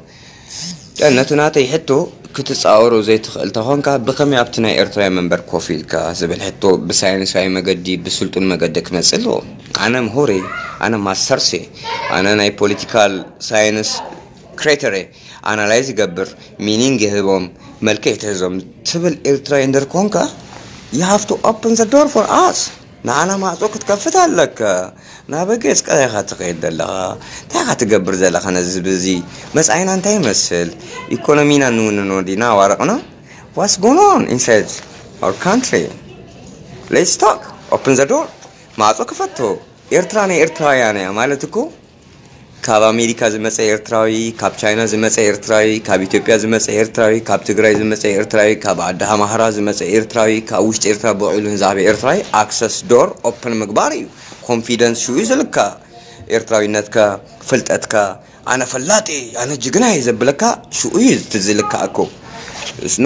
ነቲ ናተይ ሕቶ ክትጻወሮ ዘይትኽእል ተኾንካ ብኸመይ ኣብቲ ናይ ኤርትራይ መንበር ኮፍ ኢልካ ዝብል ሕቶ ብሳይንሳዊ መገዲ ብስልጡን መገዲ ክመጽእ ኣለዎ። ኣነ ምሁር እየ፣ ኣነ ማስተርስ እየ፣ ኣነ ናይ ፖለቲካል ሳይንስ ክሬተር እየ፣ ኣናላይዝ ይገብር፣ ሚኒንግ ይህቦም፣ መልክዕ ትህዞም ትብል ኤርትራዊ እንድር ኮንካ you have to open the door for us። ንዓና ማዕጾ ክትከፍት ኣለካ። ናብ ገጽካ ኢኻ ትኸይድ ዘለኻ። እንታይ ኢኻ ትገብር ዘለኻ ነዚ ህዝቢ እዚ? መጻኢና እንታይ ይመስል? ኢኮኖሚና ንውንኖ ዲና ኣዋርቕና? What's going on inside our country? Let's talk. Open the door. ማዕጾ ክፈቶ። ኤርትራ ናይ ኤርትራውያን እያ ማለት እኮ ካብ ኣሜሪካ ዝመጸ ኤርትራዊ፣ ካብ ቻይና ዝመጸ ኤርትራዊ፣ ካብ ኢትዮጵያ ዝመጸ ኤርትራዊ፣ ካብ ትግራይ ዝመጸ ኤርትራዊ፣ ካብ ዓዲ ኣምሓራ ዝመጸ ኤርትራዊ፣ ካብ ውሽጢ ኤርትራ ብውዕሉ ንዝዓበ ኤርትራዊ ኣክሰስ ዶር ኦፕን ምግባር እዩ። ኮንፊደንስ ሽኡ እዩ ዝልካ። ኤርትራዊነትካ፣ ፍልጠትካ፣ ኣነ ፈላጢ፣ ኣነ ጅግና እየ ዘብለካ ሽኡ እዩ እቲ ዝልካ እኮ።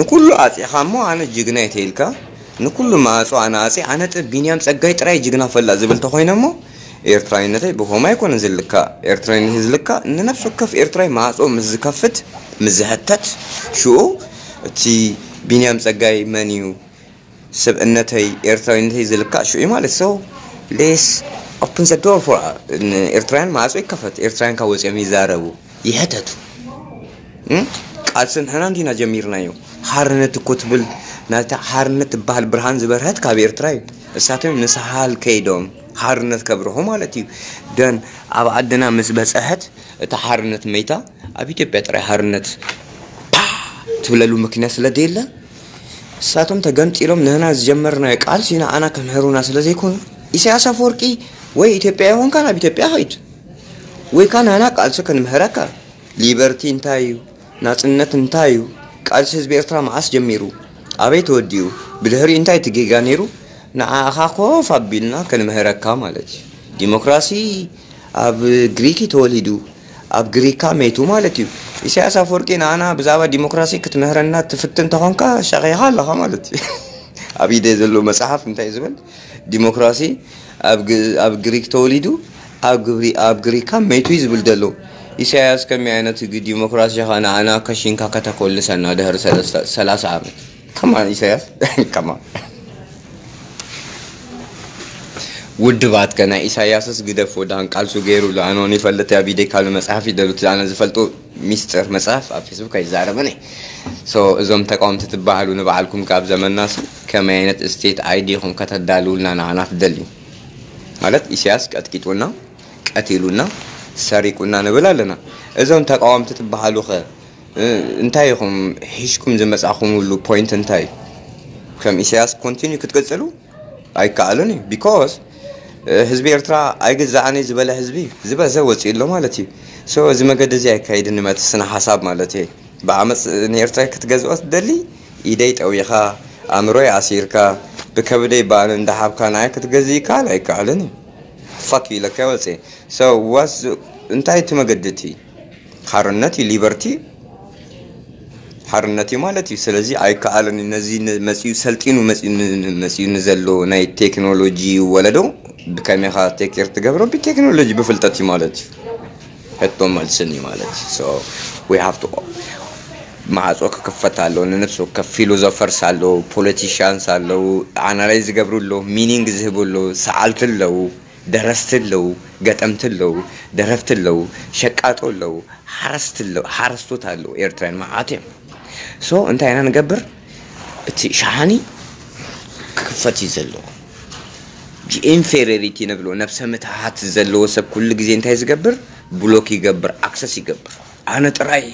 ንኩሉ ኣጺኻ እሞ ኣነ ጅግና እየ ተይልካ፣ ንኩሉ ማዕጾ ኣነ ኣጺ ኣነ ጥ ቢንያም ጸጋይ ጥራይ ጅግና ፈላጥ ዝብል ተኾይነ እሞ ኤርትራዊነተይ ብኸምኡ ኣይኮነን ዝልካ። ኤርትራዊነት ዝልካ ንነፍሲ ወከፍ ኤርትራዊ ማዕጾ ምስ ዝከፍት ምስ ዝሕተት ሽኡ እቲ ቢንያም ጸጋይ መን እዩ? ስብእነተይ ኤርትራዊነተይ ዝልካ ሽኡ እዩ ማለት። So let's open the door for ኤርትራውያን ማዕጾ ይከፈት። ኤርትራውያን ካብ ወጺኦም ይዛረቡ ይሕተቱ። እም? ቃልሲ ንሕና እንዲና ጀሚርናዮ። ሓርነት እኮ ትብል ናታ ሓርነት ትበሃል ብርሃን ዝበርሀት ካብ ኤርትራ እዩ። እሳቶም ንሳሓል ከይዶም ሓርነት ከብርሁ ማለት እዩ። ደን ኣብ ዓድና ምስ በጸሐት እታ ሓርነት መይታ፣ ኣብ ኢትዮጵያ ጥራይ ሓርነት ፓ ትብለሉ ምክንያት ስለ ደየለ፣ እሳቶም ተገምጢሎም ንህና ዝጀመርናዮ ቃልሲ ንዓና ከምህሩና ስለ ዘይኮኑ፣ ኢሳያስ ኣፈወርቂ ወይ ኢትዮጵያ ይኾንካ ናብ ኢትዮጵያ ኸይድ፣ ወይ ካ ንህና ቃልሲ ክንምህረካ። ሊበርቲ እንታይ እዩ? ናጽነት እንታይ እዩ? ቃልሲ ህዝቢ ኤርትራ መዓስ ጀሚሩ? ኣበይ ተወዲኡ? ብድሕሪኡ እንታይ እቲ ጌጋ ነይሩ? ንዓኻ ኮፍ ኣቢልና ክንምህረካ ማለት እዩ። ዲሞክራሲ ኣብ ግሪክ እዩ ተወሊዱ፣ ኣብ ግሪካ መይቱ ማለት እዩ። ኢሳያስ ኣፈወርቂ ንዓና ብዛዕባ ዲሞክራሲ ክትምህረና ትፍትን ተኾንካ ሸኺኻ ኣለኻ ማለት እዩ። ኣብ ኢደ ዘሎ መጽሓፍ እንታይ እዩ ዝብል? ዲሞክራሲ ኣብ ግ-፣ ኣብ ግሪክ ተወሊዱ፣ ኣብ ግብሪ-፣ ኣብ ግሪካ መይቱ እዩ ዝብል ዘሎ። ኢሳያስ ከመይ ዓይነት ግ-፣ ዲሞክራሲ ኸ ንዓና ከሽንካ ከተኮልሰና ድሕሪ ሰለስተ፣ ሰላሳ ዓመት? ከማን ኢሳያስ፣ ከማን። ውድባት ከ ናይ ኢሳያስስ ግደፎ፣ ዳን ቃልሱ ገይሩ ኣሎ። ኣነ እውን ይፈልጥ፣ ኣብ ኢደይ ካልእ መጽሓፍ ይደሉት፣ ኣነ ዝፈልጦ ሚስጥር መጽሓፍ ኣብ ፌስቡክ ኣይዛረብን እየ። ሶ፣ እዞም ተቃወምቲ ትበሃሉ ንባዕልኩም ካብ ዘመናስ ከመይ ዓይነት ስቴት ኣይዲ ኢኹም ከተዳልውልና ንዓና ትደልዩ? ማለት ኢሳያስ ቀጥቂጡና፣ ቀቲሉና፣ ሰሪቁና ንብል ኣለና። እዞም ተቃወምቲ ትበሃሉ ኸ፣ እ፣ እንታይ ኢኹም ሒዝኩም ዝመጻኹምሉ ፖይንት እንታይ እዩ? ከም ኢሳያስ ኮንቲኒዩ ክትቅጽሉ ኣይከኣልን እዩ። ቢኮዝ፣ እ፣ ህዝቢ ኤርትራ ኣይግዛእን እዩ ዝበለ ህዝቢ ዝበዘ ወጺኡ ኣሎ ማለት እዩ። ሶ፣ እዚ መገዲ እዚ ኣይካይድን እዩ፣ እቲ ስነ ሓሳብ ማለት እዩ። ብዓመጽ ንኤርትራ ክትገዝኦ ትደሊ፣ ኢደይ ጠዊኻ፣ ኣእምሮይ ኣሲርካ፣ ብከብደይ ባኒ እንዳሓብካ ንዓይ ክትገዝእ ይከኣል ኣይከኣልን እዩ። ፋክ እዩ ኢለካ ወጽእ። ሶ፣ ዋስ፣ እንታይ እቲ መገዲ እቲ? ሓርነት እዩ፣ ሊበርቲ ሓርነት እዩ ማለት እዩ። ስለዚ ኣይከኣልን እዩ። ነዚ ን-፣ መጺኡ ሰልጢኑ መጺኡ ን-፣ ን-፣ መጺኡ ንዘሎ ናይ ቴክኖሎጂ ወለዶ ብከመይ ኢኻ ቴክ ኬር ትገብሮ? ብቴክኖሎጂ፣ ብፍልጠት እዩ ማለት እዩ። ሕቶ መልስን እዩ ማለት እዩ። So, we have to፣ ማዕጾ ክክፈት ኣለዎ። ንነፍሲ ወከፍ ፊሎዞፈርስ ኣለዉ፣ ፖለቲሽያንስ ኣለዉ፣ ኣናላይዝ ዝገብሩ ኣለዉ፣ ሚኒንግ ዝህቡ ኣለዉ፣ ሰዓልቲ ኣለዉ፣ ደረስቲ ኣለዉ፣ ገጠምቲ ኣለዉ፣ ደረፍቲ ኣለዉ፣ ሸቃጦ ኣለዉ፣ ሓረስቲ ኣለዉ፣ ሓረስቶት ኣለዉ። ኤርትራውያን መዓት እዮም። ሶ እንታይ ኢና ንገብር? እቲ ሸሓኒ ክክፈት እዩ ዘለዎ። ኢንፌሪዮሪቲ ንብሎ፣ ነብሰ ምትሃት ዘለዎ ሰብ ኩሉ ግዜ እንታይ ዝገብር? ብሎክ ይገብር፣ ኣክሰስ ይገብር። ኣነ ጥራይ፣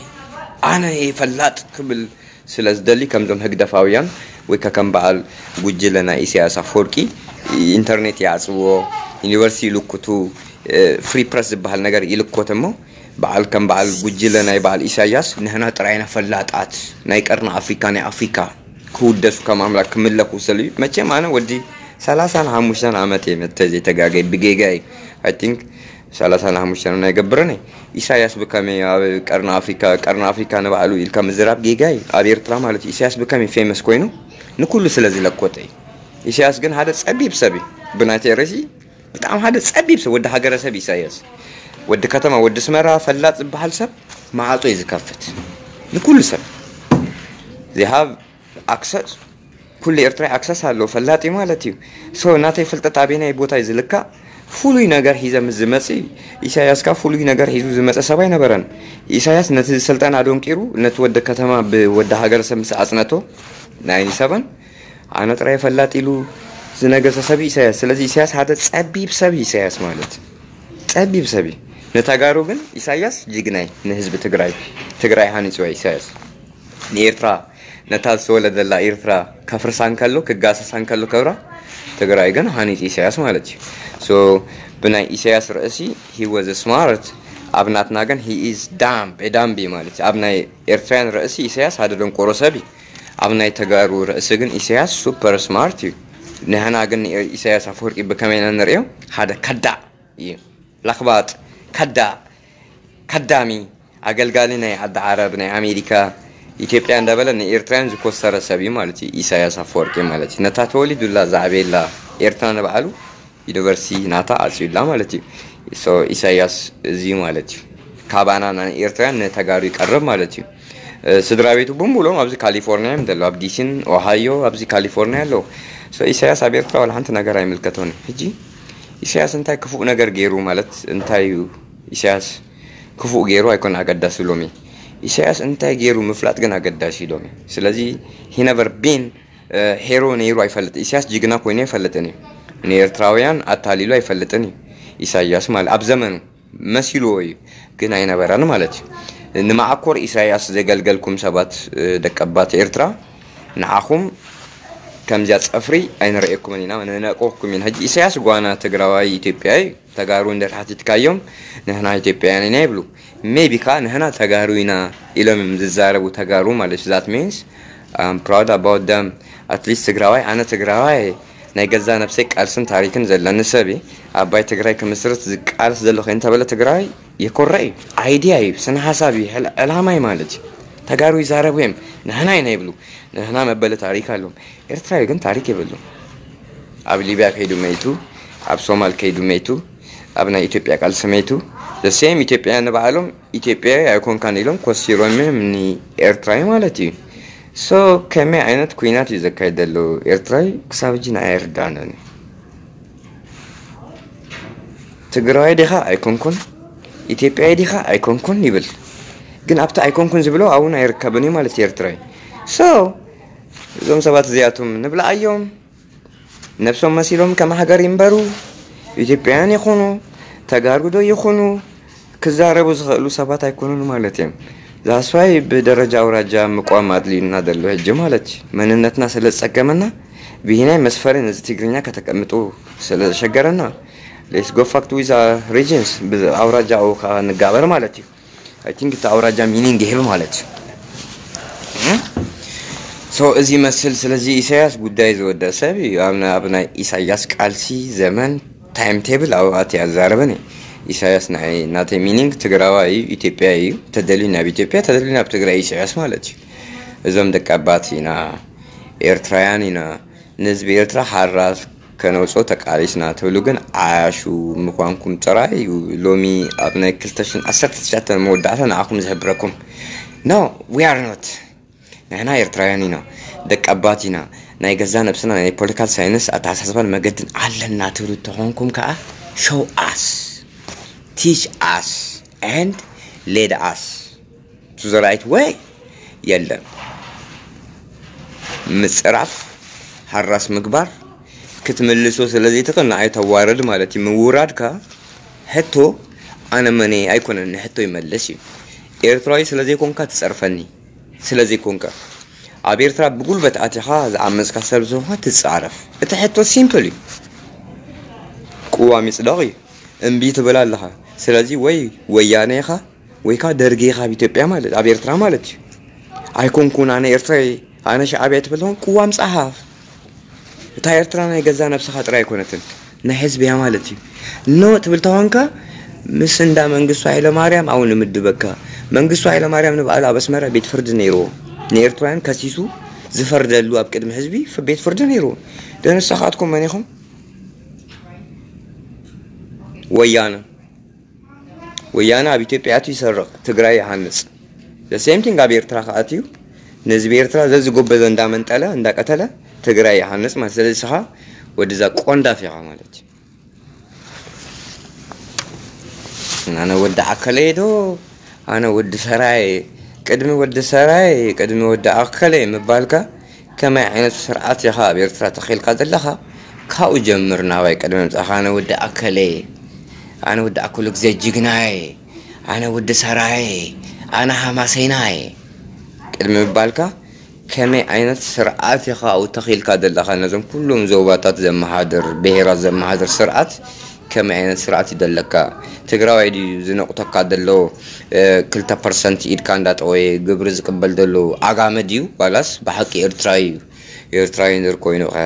ኣነ እየ ፈላጥ ክብል ስለ ዝደሊ፣ ከምዞም ህግደፋውያን ወይ ከ ከም በዓል ጉጅለ ናይ ኢሳያስ ኣፈወርቂ ኢንተርኔት ይዓጽዎ፣ ዩኒቨርሲቲ ይልኩቱ፣ እ፣ ፍሪ ፕረስ ዝበሃል ነገር ይልኮት እሞ፣ በዓል ከም በዓል ጉጅለ ናይ በዓል ኢሳያስ ንሕና ጥራይና ፈላጣት ናይ ቀርኒ ኣፍሪካ፣ ናይ ኣፍሪካ ክውደሱ ከም ኣምላክ ክምለኩ ስለ እዩ። መቸም ኣነ ወዲ ሰላሳን ሓሙሽተን ዓመት እየ መተ ዘይተጋገይ ብጌጋይ፣ I think ሰላሳን ሓሙሽተን ኣይገብርን እየ። ኢሳያስ ብከመይ ኣብ ቀርኒ ኣፍሪካ፣ ቀርኒ ኣፍሪካ ንባዕሉ ኢልካ ምዝራብ ጌጋይ ኣብ ኤርትራ ማለት እዩ። ኢሳያስ ብከመይ ፌመስ ኮይኑ ንኩሉ ስለ ዝለኮተ እዩ። ኢሳያስ ግን ሓደ ጸቢብ ሰብ እዩ። ብናተይ ርእሲ ብጣዕሚ ሓደ ጸቢብ ሰብ፣ ወዲ ሃገረሰብ ኢሳያስ። ወዲ ከተማ፣ ወዲ ኣስመራ ፈላጥ ዝበሃል ሰብ ማዕጾ እዩ ዝከፍት ንኩሉ ሰብ። They have access፣ ኩሉ ኤርትራዊ ኣክሰስ ኣለዎ፣ ፈላጥ እዩ ማለት እዩ። ሶ ናተይ ፍልጠት ኣበየናይ ቦታ እዩ ዝልካእ? ፍሉይ ነገር ሒዘ ምስ ዝመጽእ፣ ኢሳያስ ከኣ ፍሉይ ነገር ሒዙ ዝመጸ ሰብ ኣይነበረን። ኢሳያስ ነቲ ስልጣን ኣደንቂሩ፣ ነቲ ወዲ ከተማ ብወዲ ሃገረሰብ ምስ ኣጽነቶ፣ ናይንቲ ሰቨን ኣነ ጥራይ ፈላጥ ኢሉ ዝነገሰ ሰብ እዩ ኢሳያስ። ስለዚ ኢሳያስ ሓደ ጸቢብ ሰብ እዩ ኢሳያስ ማለት። ጸቢብ ሰብ እዩ። ንተጋሩ ግን ኢሳያስ ጅግናይ፣ ንህዝቢ ትግራይ፣ ትግራይ ሃኒጽዋ ኢሳያስ። ንኤርትራ፣ ነታ ዝተወለደላ ኤርትራ ከፍርሳ እንከሎ፣ ክጋሰሳ እንከሎ ክብራ ትግራይ ግን ሃኒጽ ኢሳያስ ማለት እዩ። ሶ ብናይ ኢሳያስ ርእሲ he was smart፣ ኣብ ናትና ግን he is dumb፣ a dumb ማለት እዩ። ኣብ ናይ ኤርትራውያን ርእሲ ኢሳያስ ሓደ ደንቆሮ ሰብ እዩ። ኣብ ናይ ተጋሩ ርእሲ ግን ኢሳያስ ሱፐር ስማርት እዩ። ንሕና ግን ንኤ-፣ ኢሳያስ ኣፈወርቂ ብከመይ ኢና ንርእዮ? ሓደ ከዳዕ እዩ። ለኽባጥ፣ ከዳዕ፣ ከዳሚ፣ ኣገልጋሊ ናይ ዓዲ ዓረብ፣ ናይ ኣሜሪካ፣ ኢትዮጵያ እንዳበለ ንኤርትራውያን ዝኮሰረ ሰብ እዩ ማለት እዩ ኢሳያስ ኣፈወርቂ ማለት እዩ። ነታ ተወሊዱላ ዝዓበየላ ኤርትራ ንባዕሉ ዩኒቨርሲቲ ናታ ኣጽዩላ ማለት እዩ። ሶ ኢሳያስ እዚ ማለት እዩ። ካባና ናይ ኤርትራውያን ንተጋሩ ይቀርብ ማለት እዩ። እ፣ ስድራ ቤቱ ብምሉኦም ኣብዚ ካሊፎርኒያ እዮም ዘለዉ፣ ኣብ ዲሲን ኦሃዮ፣ ኣብዚ ካሊፎርኒያ ኣለዉ። ሶ ኢሳያስ ኣብ ኤርትራ ዋላ ሓንቲ ነገር ኣይምልከቶን እዩ። ሕጂ ኢሳያስ እንታይ ክፉእ ነገር ገይሩ ማለት እንታይ እዩ? ኢሳያስ ክፉእ ገይሩ ኣይኮን ኣገዳሲ ሎሚ። ኢሳያስ እንታይ ገይሩ ምፍላጥ ግን ኣገዳሲ እዩ ሎሚ። ስለዚ he never been ሄሮ ነይሩ ኣይፈልጥ። ኢሳያስ ጅግና ኮይኑ ኣይፈልጥን እዩ። ንኤርትራውያን ኣታሊሉ ኣይፈልጥን እዩ። ኢሳያስ ማለት ኣብ ዘመኑ መሲልዎ እዩ፣ ግን ኣይነበረን ማለት እዩ። ንመዓኮር ኢሳያስ ዘገልገልኩም ሰባት፣ ደቀባት ኤርትራ፣ ንዓኹም ከምዚያ ጸፍሪ ኣይንርእየኩምን ኢና፣ ንነቅወኩም ኢና። ሕጂ ኢሳያስ ጓና ትግራዋይ ኢትዮጵያዊ፣ ተጋሩ እንደ ሓቲትካዮም ንሕና ኢትዮጵያውያን ኢና ይብሉ። ሜቢ ከኣ ንሕና ተጋሩ ኢና ኢሎም እዮም ዝዛረቡ፣ ተጋሩ ማለት እዩ። That means I'm proud about them. At least ትግራዋይ፣ ኣነ ትግራዋይ ናይ ገዛ ነብሰይ ቃልስን ታሪክን ዘለኒ ሰብ እየ። ኣባይ ትግራይ ክምስርት ዝቃልስ ዘሎ ከይንተበለ ትግራይ የኮርዕ እዩ። ኣይድያ እዩ፣ ስነ ሓሳብ እዩ፣ ዕል- ዕላማ እዩ ማለት እዩ። ተጋሩ ይዛረቡ እዮም፣ ንሕና ኢና ይብሉ። ንሕና መበለ ታሪክ ኣለዎም። ኤርትራዊ ግን ታሪክ የብሉን። ኣብ ሊብያ ከይዱ መይቱ፣ ኣብ ሶማል ከይዱ መይቱ፣ ኣብ ናይ ኢትዮጵያ ቃልሲ መይቱ። The same ኢትዮጵያ ንባዕሎም ኢትዮጵያዊ ኣይኮንካን ኢሎም ኮሲሮም እዮም ንኤርትራዊ ማለት እዩ። So ከመይ ዓይነት ኩናት እዩ ዘካይድ ዘሎ ኤርትራዊ? ክሳብ ሕጂ ንዓይ ኣይርዳእንን እዩ። ትግራዋይ ዲኻ ኣይኮንኩን፣ ኢትዮጵያዊ ዲኻ ኣይኮንኩን ይብል። ግን ኣብቲ ኣይኮንኩን ዝብሎ ኣብኡ ኣይርከብን እዩ ማለት እዩ ኤርትራዊ። So እዞም ሰባት እዚኣቶም ንብልዓዮም፣ ነብሶም መሲሎም ከም ሃገር ይንበሩ፣ ኢትዮጵያውያን ይኹኑ፣ ተጋሩ ዶ ይኹኑ፣ ክዛረቡ ዝኽእሉ ሰባት ኣይኮኑን ማለት እዮም። That's why ብደረጃ ኣውራጃ ምቋም ኣድልዩና ዘሎ ሕጂ ማለት እዩ። መንነትና ስለ ዝጸገመና ብሂናይ መስፈሪ ነዚ ትግርኛ ከተቀምጡ ስለ ዘሸገረና፣ let's go fuck with our regions፣ ብኣውራጃ ኣውካ ንጋበር ማለት እዩ። I think እቲ ኣውራጃ ሚኒንግ ይህብ ማለት እዩ። So እዚ ይመስል። ስለዚ ኢሳያስ ጉዳይ ዝወደእ ሰብ እዩ። ኣብ ና- ኣብ ናይ ኢሳያስ ቃልሲ ዘመን ታይም ቴብል ኣብኡ ኣትየ ኣዛረበኒ። ኢሳያስ ንዓይ ናተይ ሚኒንግ ትግራዋይ እዩ፣ ኢትዮጵያ እዩ። ተደልዩ ናብ ኢትዮጵያ፣ ተደልዩ ናብ ትግራይ ኢሳያስ ማለት እዩ። እዞም ደቂ ኣባት ኢና፣ ኤርትራውያን ኢና፣ ንህዝቢ ኤርትራ ሓራ ከነውፅኦ ተቃሊስና ትብሉ ግን ዓያሹ ምዃንኩም ጥራይ እዩ። ሎሚ ኣብ ናይ ክልተ ሽሕን ዓሰርተ ትሽዓተ መወዳእታ ንዓኹም ዝሕብረኩም። No, we are not። ንሕና ኤርትራውያን ኢና፣ ደቂ ኣባት ኢና፣ ናይ ገዛ ነብስና ናይ ፖለቲካል ሳይንስ ኣተሓሳስባን መገድን ኣለና ትብሉ እንተኾንኩም ከዓ show us, teach us and lead us to the right way። የለን። ምጽራፍ፣ ሃራስ ምግባር፣ ክትምልሶ ስለ ዘይትኽእል ንዓይ ተዋርድ ማለት እዩ። ምውራድካ ሕቶ ኣነ መን እየ ኣይኮነን፣ ንሕቶ ይመልስ እዩ። ኤርትራዊ ስለ ዘይኮንካ ትጸርፈኒ፣ ስለ ዘይኮንካ ኣብ ኤርትራ ብጉልበት ኣቲኻ ዝዓመጽካ ሰብ ዝኾንካ ትጻረፍ። እቲ ሕቶ ሲምፕል እዩ። ቅዋም ይጽደቕ እዩ። እምቢ ትብል ኣለኻ። ስለዚ ወይ ወያነ ኢኻ ወይ ከዓ ደርጊ ኢኻ ኣብ ኢትዮጵያ ማለት፣ ኣብ ኤርትራ ማለት እዩ። ኣይኮንኩን ኣነ ኤርትራዊ፣ ኣነ ሻዕብያ ትብል ተኾን ቅዋም ጸሓፍ። እታ ኤርትራ ናይ ገዛ ነብስኻ ጥራይ ኣይኮነትን፣ ናይ ህዝቢ እያ ማለት እዩ። ኖ ትብል ተኾንካ ምስ እንዳ መንግስቱ ሃይለማርያም ኣብኡ ንምድበካ። መንግስቱ ሃይለማርያም ንባዕሉ ኣብ ኣስመራ ቤት ፍርዲ ነይርዎ፣ ንኤርትራውያን ከሲሱ ዝፈርደሉ ኣብ ቅድሚ ህዝቢ ፍ- ቤት ፍርዲ ነይርዎ። ደንሳኻትኩም መን ኢኹም? ወያነ። ወያነ ኣብ ኢትዮጵያ ኣትዩ ይሰርቕ፣ ትግራይ ይሃንጽ። The same thing ኣብ ኤርትራ ከኣትዩ ንህዝቢ ኤርትራ ዘዝጎበዘ እንዳመንጠለ እንዳቀተለ ትግራይ ይሃንጽ ማለት። ስለዚ ንስኻ ወድዛ ቆንዳፍ ኢኻ ማለት እዩ። ኣነ ወዲ ኣከለየ ዶ ኣነ ወዲ ሰራየ፣ ቅድሚ ወዲ ሰራየ ቅድሚ ወዲ ኣከለየ ምባልካ ከመይ ዓይነት ስርዓት ኢኻ ኣብ ኤርትራ ተኺልካ ዘለኻ? ካብኡ ጀምር ናባይ ቅድሚ ምጻኻ። ኣነ ወዲ ኣከለየ፣ ኣነ ወዲ ኣከሉ ግዜ ጅግናየ፣ ኣነ ወዲ ሰራየ፣ ኣነ ሃማሰይናየ ቅድሚ ምባልካ ከመይ ዓይነት ስርዓት ኢኻ ኣብኡ ተኺልካ ዘለኻ? ነዞም ኩሎም ዞባታት ዘመሓድር፣ ብሄራት ዘመሓድር ስርዓት ከመይ ዓይነት ስርዓት እዩ ዘለካ? ትግራዋይ ድዩ ዝነቑተካ ዘሎ? ክልተ ፐርሰንት ኢድካ እንዳጠወየ ግብሪ ዝቅበል ዘሎ ዓጋመ ድዩ ዋላስ ብሓቂ ኤርትራዊ እዩ? ኤርትራዊ እንድር ኮይኑ ከ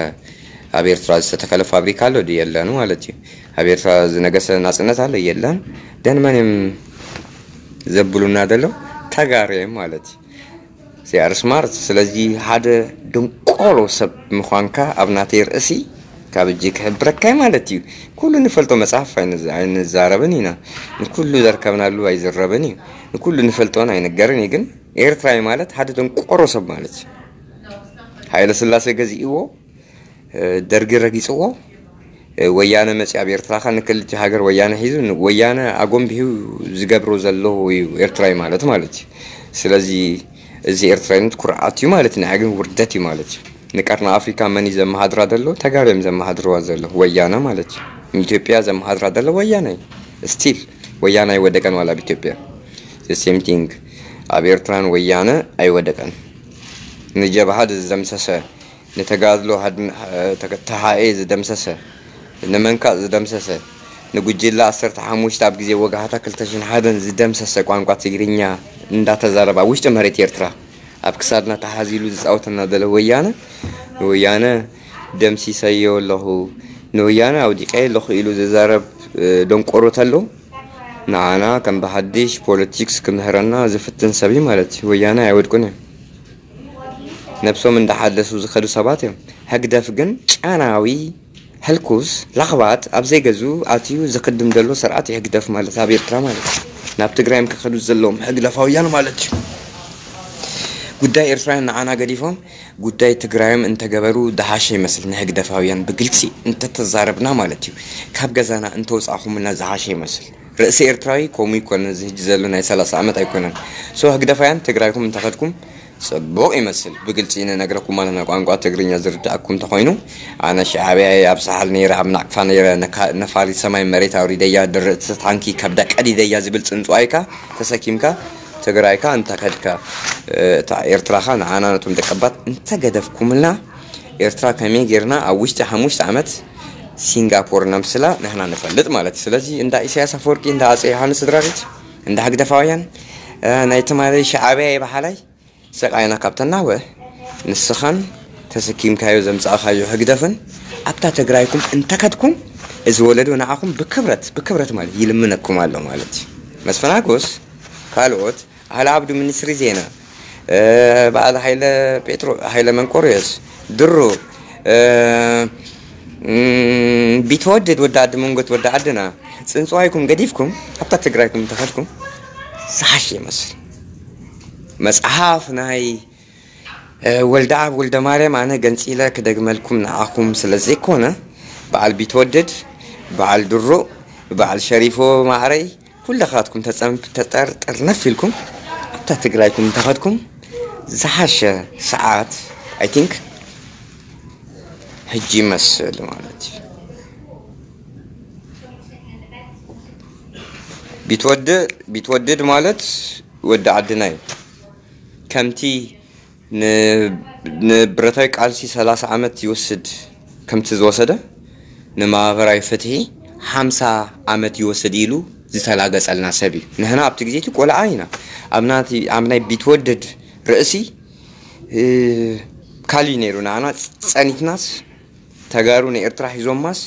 ኣብ ኤርትራ ዝተተከለ ፋብሪካ ኣሎ ድዩ? የለን ማለት እዩ። ኣብ ኤርትራ ዝነገሰ ናጽነት ኣሎ? የለን። ደን መን እዮም ዘብሉና ዘሎ? ተጋሩ እዮም ማለት እዩ። They are smart። ስለዚ ሓደ ድንቆሮ ሰብ ምዃንካ ኣብ ናተይ ርእሲ ካብ እጅ ክሕብረካ እዩ ማለት እዩ። ኩሉ ንፈልጦ መጽሓፍ ኣይንዝ- ኣይንዛረብን ኢና። ንኩሉ ዘርከብናሉ ኣይዝረብን እዩ። ንኩሉ ንፈልጦን ኣይንገርን እዩ። ግን ኤርትራዊ ማለት ሓደ ድንቆሮ ሰብ ማለት እዩ። ሃይለ ስላሴ ገዚእዎ፣ ደርጊ ረጊጽዎ፣ ወያነ መጺ ኣብ ኤርትራኻ ንክልተ ሃገር ወያነ ሒዙ ን- ወያነ ኣጎንቢሑ ዝገብሮ ዘሎ እዩ ኤርትራዊ ማለት ማለት እዩ። ስለዚ እዚ ኤርትራዊነት ኩርዓት እዩ ማለት እዩ። ንዓይ ግን ውርደት እዩ ማለት እዩ። ንቀርኒ ኣፍሪካ መን እዩ ዘመሃድራ ዘሎ? ተጋሩ እዮም ዘመሃድርዋ ዘሎ፣ ወያነ ማለት እዩ። ንኢትዮጵያ ዘመሃድራ ዘሎ ወያነ እዩ። ስቲል ወያነ ኣይወደቀን ዋላ ኣብ ኢትዮጵያ። ሴም ቲንግ ኣብ ኤርትራን ወያነ ኣይወደቀን። ንጀብሃ ዝደምሰሰ፣ ንተጋድሎ ሃድን- ተሃኤ ዝደምሰሰ፣ ንመንካእ ዝደምሰሰ፣ ንጉጅለ ዓሰርተ ሓሙሽተ ኣብ ግዜ ወጋሕታ ክልተ ሽሕን ሓደን ዝደምሰሰ፣ ቋንቋ ትግርኛ እንዳተዛረባ ውሽጢ መሬት ኤርትራ ኣብ ክሳድና ተሓዚሉ ዝጻወተና ዘሎ ወያነ፣ ንወያነ ደምሲሰዮ ኣለኹ፣ ንወያነ ኣውዲቀ ኣለኹ ኢሉ ዝዛረብ ደንቆሮ ተሎ፣ ንዓና ከም ብሓድሽ ፖለቲክስ ክምህረና ዝፍትን ሰብ እዩ ማለት እዩ። ወያነ ኣይወድቁን እዮም። ነብሶም እንዳሓደሱ ዝኸዱ ሰባት እዮም። ህግደፍ ግን ጫናዊ፣ ህልኩስ፣ ላኽባጥ ኣብ ዘይገዝኡ ኣትዩ ዝኽድም ዘሎ ስርዓት እዩ ህግደፍ ማለት ኣብ ኤርትራ ማለት እዩ። ናብ ትግራይም ክኸዱ ዘለዎም ህግደፋውያን ማለት እዩ። ጉዳይ ኤርትራውያን ንዓና ገዲፎም ጉዳይ ትግራዮም እንተገበሩ ዝሓሸ ይመስል። ንህግደፋውያን ብግልፂ እንተተዛረብና ማለት እዩ። ካብ ገዛና እንተውፃእኹምና ዝሓሸ ይመስል። ርእሲ ኤርትራዊ ከምኡ ይኮነ፣ እዚ ህጂ ዘሎ ናይ ሰላሳ ዓመት ኣይኮነን። ሶ ህግደፋውያን ትግራይኩም እንተኸድኩም ፅቡቕ ይመስል። ብግልፂ ንነግረኩም ኣለና፣ ቋንቋ ትግርኛ ዝርዳእኩም እንተኾይኑ። ኣነ ሻዕብያ እየ፣ ኣብ ሳሕል ነይረ፣ ኣብ ናቅፋ ነይረ፣ ነፋሪት ሰማይ መሬት ኣውሪደያ፣ ድርዕቲ ታንኪ ከብዳ ቀዲደያ ዝብል ፅንፅዋይካ ተሰኪምካ ትግራይካ እንተኸድካ፣ እታ ኤርትራኻ ንዓና ነቶም ደቀባት እንተገደፍኩምልና፣ ኤርትራ ከመይ ጌርና ኣብ ውሽጢ ሓሙሽተ ዓመት ሲንጋፖር ነምስላ ንሕና ንፈልጥ ማለት እዩ። ስለዚ እንዳ ኢሳያስ ኣፈወርቂ፣ እንዳ ኣጼ ዮሃንስ ስድራቤት፣ እንዳ ህግደፋውያን፣ ናይ ትማሊ ሻዕብያ የበሃላይ ስቃይና ካብ ተናወ፣ ንስኻን ተሰኪምካዮ ዘምጻእካዮ ህግደፍን ኣብታ ትግራይኩም እንተከድኩም፣ እዚ ወለዶ ንዓኹም ብክብረት፣ ብክብረት ማለት ይልምነኩም ኣሎ ማለት እዩ። መስፍን ሓጎስ፣ ካልኦት፣ ኣህለ ኣብዱ ሚኒስትሪ ዜና፣ በዓል ሃይለ ጴጥሮ፣ ሃይለ መንቆርዮስ፣ ድሮ፣ ቢትወደድ ወዲ ዓዲ መንጎት ወዲ ዓድና፣ ጽንጽዋይኩም ገዲፍኩም ኣብታ ትግራይኩም እንተኸድኩም ዝሓሽ ይመስል። መጽሓፍ ናይ ወልደኣብ ወልደማርያም ኣነ ገንጺለ ክደግመልኩም ንዓኹም ስለ ዘይኮነ፣ በዓል ቢትወደድ፣ በዓል ድሩእ፣ በዓል ሸሪፎ ማዕረይ፣ ኩልኻትኩም ተጸንፍ-፣ ተጠርጠርነፍ ኢልኩም ኣብታ ትግራይኩም እንተኸድኩም ዝሓሸ ሰዓት፣ ኣይ ቲንክ፣ ሕጂ ይመስል ማለት እዩ። ቢትወደድ፣ ቢትወደድ ማለት ወዲ ዓድና እዩ። ከምቲ ን-፣ ንብረታዊ ቃልሲ ሰላሳ ዓመት ይወስድ ከምቲ ዝወሰደ፣ ንማህበራዊ ፍትሒ ሓምሳ ዓመት ይወስድ ኢሉ ዝተላገጸልና ሰብ እዩ። ንሕና ኣብቲ ግዜ እቲ ቆልዓ ኢና። ኣብ ናቲ-፣ ኣብ ናይ ቢትወደድ ርእሲ፣ እ፣ ካልእ ነይሩ። ንዓና ጸኒትናስ፣ ተጋሩ ንኤርትራ ሒዞማስ፣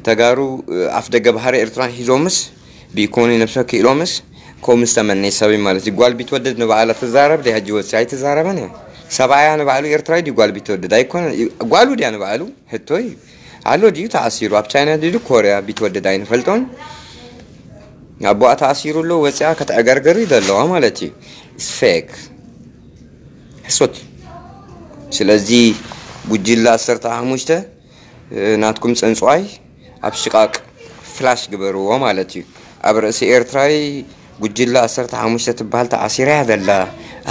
ተጋሩ፣ እ፣ ኣፍ ደገ ባሕሪ ኤርትራ ሒዞምስ፣ ብኢኮኖሚ ነብሰ ክኢሎምስ፣ ከምኡ ዝተመነየ ሰብ እዩ ማለት እዩ። ጓል ቢትወደድ ንባዕላ ትዛረብ ድያ? ሕጂ ወፂኣ ኣይትዛረበን እያ። ሰብኣያ ንባዕሉ ኤርትራዊ ድዩ? ጓል ቢትወደድ ኣይኮነን። ጓሉ ድያ ንባዕሉ? ሕቶ እዩ። ኣሎ ድዩ ተኣሲሩ? ኣብ ቻይና ድዩ ኮርያ ቢትወደድ ኣይንፈልጦን። ኣቦኣ ተኣሲሩ ኣሎ፣ ወፂኣ ከተዕገርግር እዩ ዘለዋ ማለት እዩ። It's fake። ሕሶት እዩ። ስለዚ ጉጅለ ዓሰርተ ሓሙሽተ ናትኩም ጽንጽዋይ ኣብ ሽቓቕ ፍላሽ ግበርዎ ማለት እዩ። ኣብ ርእሲ ኤርትራዊ ጉጅለ ዓሰርተ ሓሙሽተ ትበሃል ተኣሲራ እያ ዘላ፣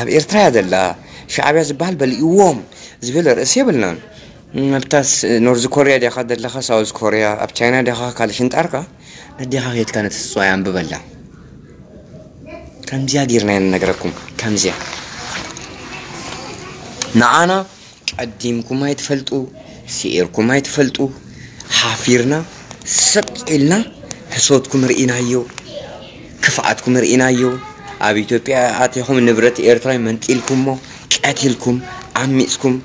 ኣብ ኤርትራ እያ ዘላ፣ ሻዕብያ ዝበሃል በሊእዎም ዝብል ርእሲ የብልናን። ኣብታ ስ-፣ ኖርዝ ኮርያ ዲኻ ዘለኻ፣ ሳውዝ ኮርያ፣ ኣብ ቻይና ዲኻ፣ ካልእ ሽንጣርካ ነዴኻ ኬድካ ነቲ ጽንጽዋይ ኣንብበላ። ከምዚኣ ጌርና ኢና ንነግረኩም። ከምዚኣ ንዓና ቀዲምኩም ኣይትፈልጡ፣ ስዒርኩም ኣይትፈልጡ። ሓፊርና፣ ስቕ ኢልና፣ ሕሶትኩም ርኢናዮ፣ ክፍኣትኩም ርኢናዮ። ኣብ ኢትዮጵያ ኣቲኹም ንብረት ኤርትራዊ መንጢልኩሞ፣ ቀቲልኩም፣ ዓሚጽኩም፣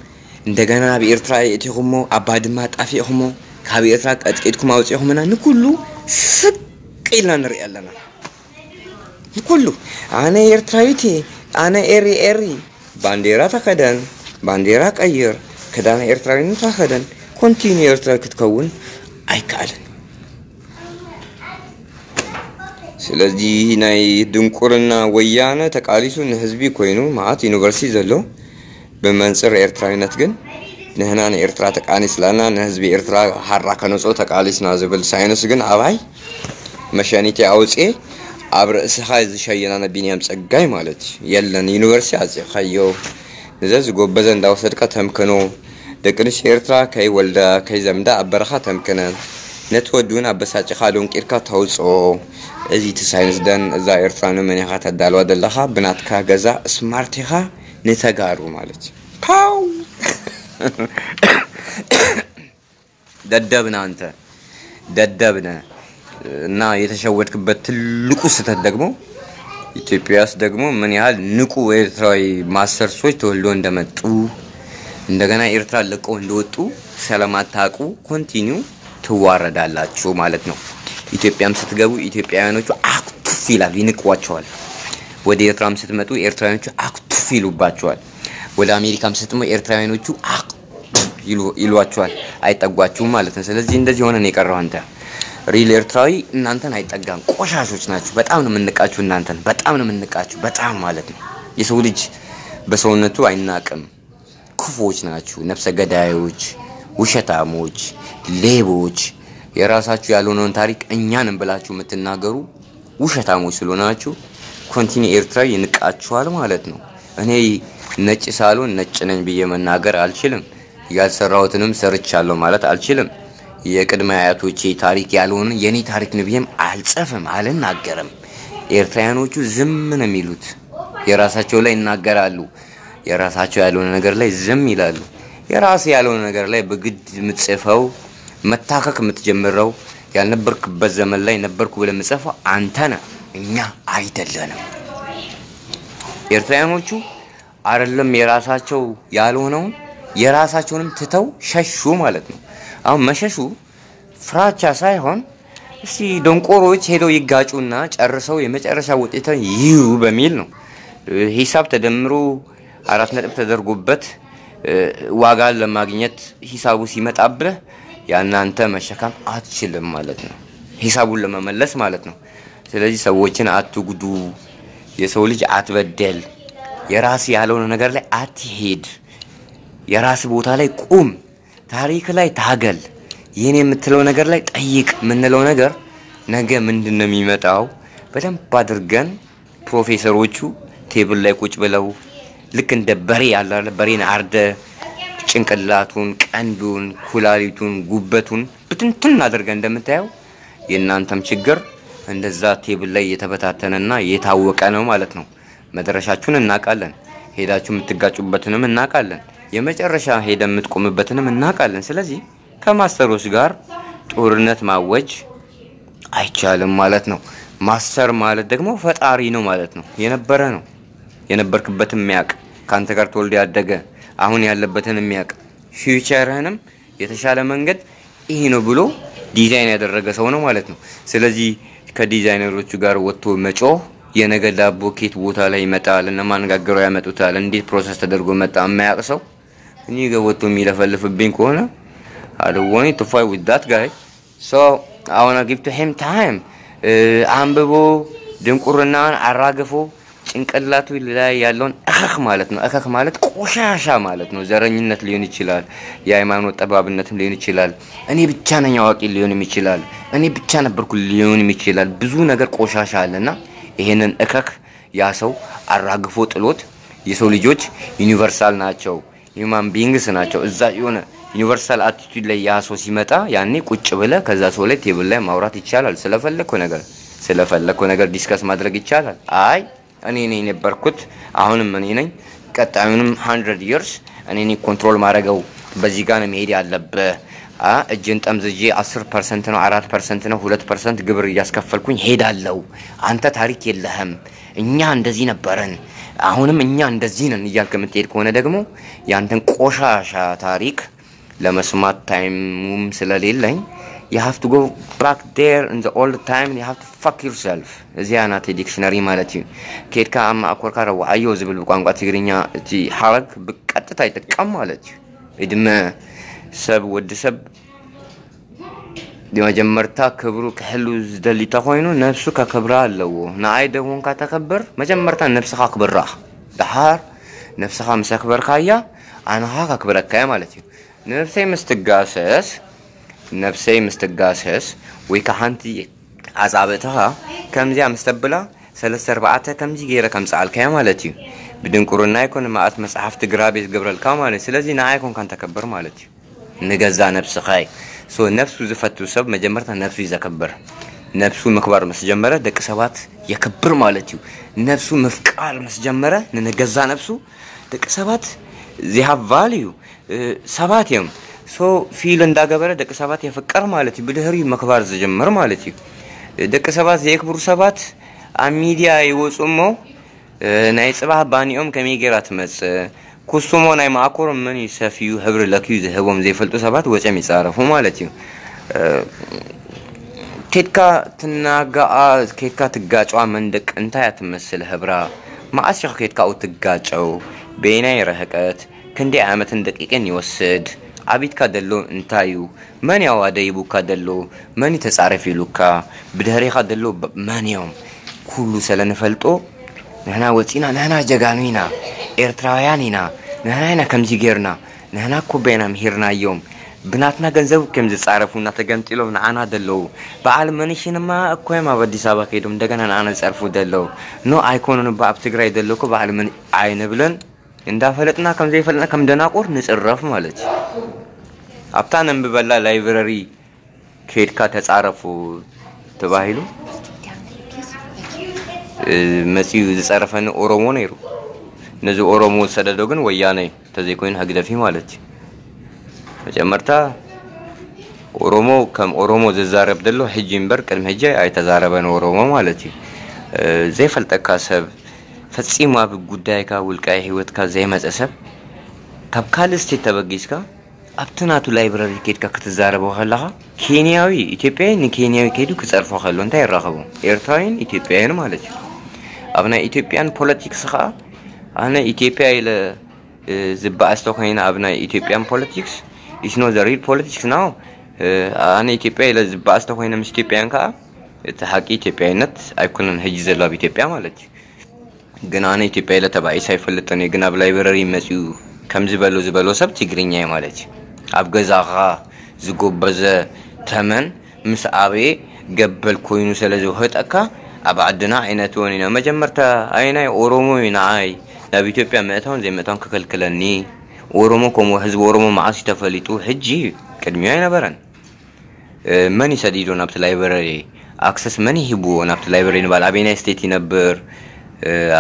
እንደገና ኣብ ኤርትራ የእቲኹሞ፣ ኣብ ባድማ ኣጣፊእኹሞ፣ ካብ ኤርትራ ቀጥቂጥኩም ኣውጺእኹምና፣ ንኩሉ ስቕ ኢልና ንርኢ ኣለና። ንኩሉ፣ ኣነ ኤርትራዊት እየ፣ ኣነ ኤሪ ኤሪ፣ ባንዴራ ተኸደን፣ ባንዴራ ቀይር፣ ክዳን ኤርትራዊነት ተኸደን፣ ኮንቲኒ ኤርትራዊ ክትከውን ኣይከኣልን። ስለዚ ናይ ድንቁርና ወያነ ተቃሊሱ ንህዝቢ ኮይኑ መዓት ዩኒቨርሲቲ ዘሎ፣ ብመንጽር ኤርትራዊነት ግን ንህና ንኤርትራ ተቃሊስላና፣ ንህዝቢ ኤርትራ ሓራ ከነጽኦ ተቃሊስና ዝብል ሳይንስ ግን ኣባይ መሸኒቲ ኣውጽኤ ኣብ ርእስኻ ዝሸየና ንቢንያም ጸጋይ ማለት እዩ። የለን ዩኒቨርሲቲ ኣጽኻዮ። ንዘ ዝጎበዘ እንዳወሰድካ ተምክኖ፣ ደቂ ኣንስትዮ ኤርትራ ከይወልዳ ከይዘምዳ ኣብ በረኻ ተምክነን፣ ነቲ ወዲ እውን ኣበሳጭኻ ዶንቂርካ ተውፅኦ። እዚ እቲ ሳይንስ ደን እዛ ኤርትራ ንመን ኢኻ ተዳልዋ ዘለኻ? ብናትካ ገዛ ስማርት ኢኻ ንተጋሩ ማለት እዩ። ፓው ደደብና እንተ ደደብነ እና የተሸወድክበት ትልቁ ስህተት ደግሞ ኢትዮጵያ ውስጥ ደግሞ ምን ያህል ንቁ ኤርትራዊ ማስተርሶች ተወልዶ እንደመጡ እንደገና ኤርትራ ለቀው እንደወጡ ስለማታውቁ ኮንቲኒው ትዋረዳላችሁ ማለት ነው። ኢትዮጵያም ስትገቡ ኢትዮጵያውያኖቹ አክቱፍ ይላሉ፣ ይንቋቸዋል። ወደ ኤርትራም ስትመጡ ኤርትራውያኖቹ አክቱፍ ይሉባቸዋል። ወደ አሜሪካም ስትመጡ ኤርትራውያኖቹ አክ ይሉ- ይሏቸዋል፣ አይጠጓችሁም ማለት ነው። ስለዚህ እንደዚህ ሆነ ነው የቀረው። አንተ ሪል ኤርትራዊ እናንተን አይጠጋም። ቆሻሾች ናችሁ። በጣም ነው የምንቃችሁ እናንተን፣ በጣም ነው የምንቃችሁ፣ በጣም ማለት ነው። የሰው ልጅ በሰውነቱ አይናቅም። ክፉዎች ናችሁ፣ ነፍሰ ገዳዮች፣ ውሸታሞች፣ ሌቦች፣ የራሳችሁ ያልሆነውን ታሪክ እኛንም ብላችሁ የምትናገሩ ውሸታሞች ስለሆናችሁ ኮንቲኒ ኤርትራ ይንቃችኋል ማለት ነው። እኔ ነጭ ሳልሆን ነጭ ነኝ ብዬ መናገር አልችልም። ያልሰራሁትንም ሰርቻለሁ ማለት አልችልም። የቅድመ አያቶቼ ታሪክ ያልሆነ የኔ ታሪክ ነው ብዬም አልጽፍም፣ አልናገርም። ኤርትራውያኖቹ ዝም ነው የሚሉት። የራሳቸው ላይ ይናገራሉ። የራሳቸው ያልሆነ ነገር ላይ ዝም ይላሉ። የራስ ያልሆነ ነገር ላይ በግድ የምትጽፈው መታከክ የምትጀምረው ያልነበርክበት ዘመን ላይ ነበርኩ ብለህ የምትጽፈው አንተ ነህ፣ እኛ አይደለንም። ኤርትራውያኖቹ አይደለም የራሳቸው ያልሆነውን የራሳቸውንም ትተው ሸሹ ማለት ነው። አሁን መሸሹ ፍራቻ ሳይሆን እስቲ ደንቆሮዎች ሄደው ይጋጩና ጨርሰው የመጨረሻ ውጤትን ይዩ በሚል ነው። ሂሳብ ተደምሮ አራት ነጥብ ተደርጎበት ዋጋን ለማግኘት ሂሳቡ ሲመጣብህ ያናንተ መሸከም አትችልም ማለት ነው። ሂሳቡን ለመመለስ ማለት ነው። ስለዚህ ሰዎችን አትጉዱ፣ የሰው ልጅ አትበደል፣ የራስ ያልሆነ ነገር ላይ አትሄድ፣ የራስ ቦታ ላይ ቁም፣ ታሪክ ላይ ታገል፣ ይህን የምትለው ነገር ላይ ጠይቅ የምንለው ነገር ነገ ምንድን ነው የሚመጣው? በደንብ አድርገን ፕሮፌሰሮቹ ቴብል ላይ ቁጭ ብለው ልክ እንደ በሬ ያለ አይደል? በሬን አርደ ጭንቅላቱን፣ ቀንዱን፣ ኩላሊቱን፣ ጉበቱን ብትንትን አድርገ እንደምታየው የእናንተም ችግር እንደዛ ቴብል ላይ የተበታተነና የታወቀ ነው ማለት ነው። መድረሻችሁን እናውቃለን። ሄዳችሁ የምትጋጩበትንም እናውቃለን። የመጨረሻ ሄደ የምትቆምበትንም እናውቃለን። ስለዚህ ከማስተሮች ጋር ጦርነት ማወጅ አይቻልም ማለት ነው። ማስተር ማለት ደግሞ ፈጣሪ ነው ማለት ነው። የነበረ ነው፣ የነበርክበትን የሚያውቅ፣ ከአንተ ጋር ተወልዶ ያደገ፣ አሁን ያለበትን የሚያውቅ፣ ፊውቸርህንም የተሻለ መንገድ ይሄ ነው ብሎ ዲዛይን ያደረገ ሰው ነው ማለት ነው። ስለዚህ ከዲዛይነሮቹ ጋር ወጥቶ መጮህ፣ የነገ ዳቦ ኬት ቦታ ላይ ይመጣል፣ እነማን ጋግረው ያመጡታል፣ እንዴት ፕሮሰስ ተደርጎ መጣ የማያውቅ ሰው እኔ ጋር ወጥቶ የሚለፈልፍብኝ ከሆነ I don't want to fight with that guy. So I wanna give to him time. አንብቦ ድንቁርናን አራግፎ ጭንቅላቱ ላይ ያለውን እከክ ማለት ነው። እከክ ማለት ቆሻሻ ማለት ነው። ዘረኝነት ሊሆን ይችላል፣ የሃይማኖት ጠባብነትም ሊሆን ይችላል። እኔ ብቻ ነኝ አዋቂ ሊሆንም ይችላል። እኔ ብቻ ነበርኩ ሊሆንም ይችላል። ብዙ ነገር ቆሻሻ አለና ይሄንን እከክ ያ ሰው አራግፎ ጥሎት፣ የሰው ልጆች ዩኒቨርሳል ናቸው፣ ሂውማን ቢንግስ ናቸው። እዛ የሆነ ዩኒቨርሳል አቲቱድ ላይ ያ ሰው ሲመጣ ያኔ ቁጭ ብለ ከዛ ሰው ላይ ቴብል ላይ ማውራት ይቻላል። ስለፈለግከው ነገር ስለፈለግከው ነገር ዲስከስ ማድረግ ይቻላል። አይ እኔ ነኝ የነበርኩት፣ አሁንም እኔ ነኝ፣ ቀጣዩንም ሀንድረድ ይርስ እኔ ነኝ ኮንትሮል ማድረገው። በዚህ ጋር ነው መሄድ ያለብህ። እጅን ጠምዝጄ አስር ፐርሰንት ነው፣ አራት ፐርሰንት ነው፣ ሁለት ፐርሰንት ግብር እያስከፈልኩኝ ሄዳለሁ። አንተ ታሪክ የለህም። እኛ እንደዚህ ነበርን፣ አሁንም እኛ እንደዚህ ነን እያልክ የምትሄድ ከሆነ ደግሞ ያንተን ቆሻሻ ታሪክ ለመስማት ታይሙም ስለሌለኝ you have to go back there in the old time, you have to fuck yourself። እዚኣ ናተይ ዲክሽነሪ ማለት እዩ። ኬድካ ኣብ ማእኮርካ ረዋዓዮ ዝብል ብቋንቋ ትግርኛ እቲ ሓረግ ብቀጥታ ይጥቀም ማለት እዩ። እድመ ሰብ ወዲ ሰብ መጀመርታ ክብሩ ክሕሉ ዝደሊ ተኮይኑ ነብሱ ከክብራ ኣለዎ። ንኣይ ደጎንካ ተከብር፣ መጀመርታ ነብስኻ ክብራ። ድሓር ነብስኻ ምስ ኣክበርካያ ኣነኻ ከክብረካያ ማለት እዩ። ነብሰይ ምስ ትጋሰስ ነብሰይ ምስ ትጋሰስ ወይ ከዓ ሓንቲ ኣጻብእትኻ ከምዚኣ ምስ ተብላ ሰለስተ ኣርባዕተ ከምዚ ገይረ ከምጽኣልካያ ማለት እዩ። ብድንቁርና ኣይኮነ፣ መዓት መጽሓፍቲ ግራቤ ዝገብረልካ ማለት። ስለዚ ንዓይ ኮንካ እንተከብር ማለት እዩ፣ ንገዛ ነብስኻ እዩ። So ነብሱ ዝፈቱ ሰብ መጀመርታ ነብሱ እዩ ዘከብር። ነብሱ ምክባር ምስ ጀመረ ደቂ ሰባት የክብር ማለት እዩ። ነብሱ ምፍቃር ምስ ጀመረ ንገዛ ነብሱ ደቂ ሰባት they have value ሰባት እዮም። So ፊል እንዳገበረ ደቂ ሰባት የፍቅር ማለት እዩ። ብድህሪ ምክባር ዝጀምር ማለት እዩ። ደቂ ሰባት ዘየክብሩ ሰባት ኣብ ሚድያ ይወፁ እሞ ናይ ጽባሕ ባኒኦም ከመይ ጌራ ትመጽእ? ኩስሞ ናይ መኣኮሮም መን እዩ ሰፍዩ ሕብሪ ለክዩ ዝህቦም ዘይፈልጡ ሰባት ወጺኦም ይጻረፉ ማለት እዩ። ኬድካ ትናጋኣ፣ ኬድካ ትጋጨዋ መንደቅ እንታይ እያ ትመስል ህብራ? መዓስ ኢኹ ኬድካ ኣብኡ ትጋጨው? በየናይ ርሕቀት? ክንደይ ዓመትን ደቂቅን ይወስድ? ዓቢትካ ደሎ እንታይ እዩ? መን ያዋ ደይቡካ ደሎ? መን እዩ ተጻረፍ ኢሉካ? ብድሕሪኻ ደሎ መን እዮም? ኩሉ ስለ ንፈልጦ ንሕና ወጺና፣ ንሕና ጀጋኑ ኢና፣ ኤርትራውያን ኢና፣ ንሕና ኢና ከምዚ ጌርና፣ ንሕና እኮ ቤና ምሂርናዮም፣ ብናትና ገንዘብ ከም ዝጻረፉና ተገምጢሎም ንዓና ደለዉ። በዓል መንሽንማ እኮ እዮም ኣብ ኣዲስ ኣበባ ከይዶም እንደገና ንዓና ዝጸርፉ ደለዉ። ኖ ኣይኮኑን እባ ኣብ ትግራይ ደሎ እኮ በዓል መን ኣይንብለን። እንዳፈለጥና ከም ዘይፈለጥና ከም ደናቁር ንጽረፍ ማለት እዩ። ኣብታ ነንብበላ ላይብረሪ ከይድካ ተጻረፉ ተባሂሉ መጺኡ ዝጸረፈኒ ኦሮሞ ነይሩ። ነዚ ኦሮሞ ዝሰደዶ ግን ወያነ እዩ፣ እንተዘይኮይኑ ህግደፍ እዩ ማለት እዩ። መጀመርታ ኦሮሞ ከም ኦሮሞ ዝዛረብ ዘሎ ሕጂ እምበር ቅድሚ ሕጂ ኣይተዛረበን ኦሮሞ ማለት እዩ። ዘይፈልጠካ ሰብ፣ ፈጺሙ ኣብ ጉዳይካ ውልቃዊ ህይወትካ ዘይመጸ ሰብ፣ ካብ ካልእ ስቴት ተበጊስካ ኣብቲ ናቱ ላይብረሪ ከይድካ ክትዛረቦ ከለኻ፣ ኬንያዊ ኢትዮጵያዊ ንኬንያዊ ከይዱ ክጸርፎ ከሎ እንታይ ይራኸቡ? ኤርትራውያን ኢትዮጵያውያን ማለት እዩ። ኣብ ናይ ኢትዮጵያን ፖለቲክስ ኸኣ፣ ኣነ ኢትዮጵያ ኢለ ዝበኣስ ተኮይነ ኣብ ናይ ኢትዮጵያን ፖለቲክስ፣ it's not the real politics now። ኣነ ኢትዮጵያ ኢለ ዝበኣስ ተኮይነ ምስ ኢትዮጵያውያን ከኣ እቲ ሓቂ ኢትዮጵያዊነት ኣይኮነን ሕጂ ዘሎ ኣብ ኢትዮጵያ ማለት እዩ። ግን ኣነ ኢትዮጵያ ኢለ ተባኢሰ ኣይፈልጥን እየ። ግን ኣብ ላይብረሪ መጺኡ ከምዚ በሎ ዝበሎ ሰብ ትግርኛ እዩ ማለት እዩ። ኣብ ገዛኻ ዝጎበዘ ተመን ምስ ኣበየ ገበል ኮይኑ ስለ ዝውህጠካ ኣብ ዓድና ኣይነትወን ኢና። መጀመርታ ኣየናይ ኦሮሞ እዩ ንዓይ ናብ ኢትዮጵያ ምእታውን ዘይምእታውን ክከልክለኒ? ኦሮሞ ከምኡ ህዝቢ ኦሮሞ መዓስ እዩ ተፈሊጡ? ሕጂ እዩ፣ ቅድሚኡ ኣይነበረን። መን እዩ ሰዲዶ ናብቲ ላይብረሪ? ኣክሰስ መን ይሂብዎ ናብቲ ላይብረሪ ንባል? ኣበየናይ ስቴት ይነብር?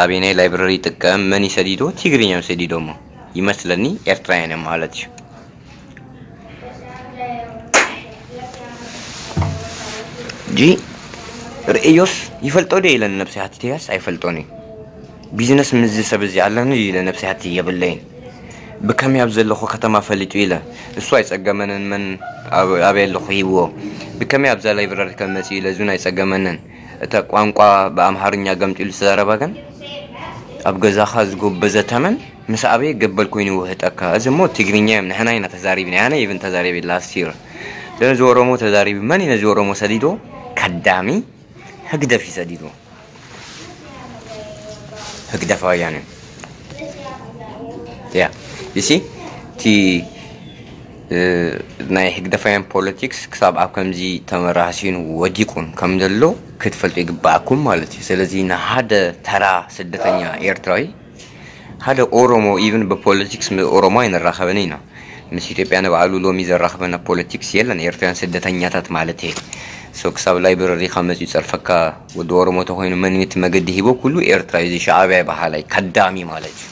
ኣበየናይ ላይብረሪ ይጥቀም? መን እዩ ሰዲዶ? ትግርኛ እዮም ሰዲዶሞ ይመስለኒ፣ ኤርትራውያን እዮም ማለት እዩ። ጂ ርእዮስ ይፈልጦ ዶ ኢለን ነብሲ ሓቲተያስ ኣይፈልጦን እዩ። ቢዝነስ ምስዚ ሰብ እዚ ኣለኒ ኢለ ነብሲ ሓቲ የብለይን። ብከመይ ኣብ ዘለኹ ከተማ ፈሊጡ ኢለ እሱ ኣይጸገመንን፣ መን ኣብ- ኣበይ ኣለኹ ሂብዎ። ብከመይ ኣብዛ ላይብረሪ ከም መጺኡ ኢለ እዙን ኣይጸገመንን። እታ ቋንቋ ብኣምሃርኛ ገምጢሉ ዝተዛረባ ግን ኣብ ገዛኻ ዝጎበዘ ተመን ምስ ኣበየ ገበል ኮይኑ ይውህጠካ። እዚ እሞ ትግርኛ እዮም፣ ንሕና ኢና ተዛሪብና፣ ኣነ ይብን ተዛሪቢ ላስት ይር። ነዚ ኦሮሞ ተዛሪቢ፣ መን እዩ ነዚ ኦሮሞ ሰዲዶ? ከዳሚ ህግደፍ እዩ ሰዲዶ። ህግደፋውያን እዮም። ያ ይሲ እቲ ናይ ህግደፋውያን ፖለቲክስ ክሳብ ኣብ ከምዚ ተመራሲን ወዲቁን ከም ዘሎ ክትፈልጡ ይግባኣኩም ማለት እዩ። ስለዚ ንሓደ ተራ ስደተኛ ኤርትራዊ፣ ሓደ ኦሮሞ፣ ኢቭን ብፖለቲክስ ምስ ኦሮሞ ኣይንራኸብን ኢና። ምስ ኢትዮጵያ ንባዕሉ ሎሚ ዘራኽበና ፖለቲክስ የለን። ኤርትራውያን ስደተኛታት ማለት እየ። ሶ ክሳብ ላይብረሪኻ መፂኡ ፀርፈካ ወዲ ኦሮሞ ተኮይኑ መን እቲ መገዲ ሂቦ ኩሉ ኤርትራ እዩ። እዚ ሻዕብያ በሃላይ ከዳሚ ማለት እዩ።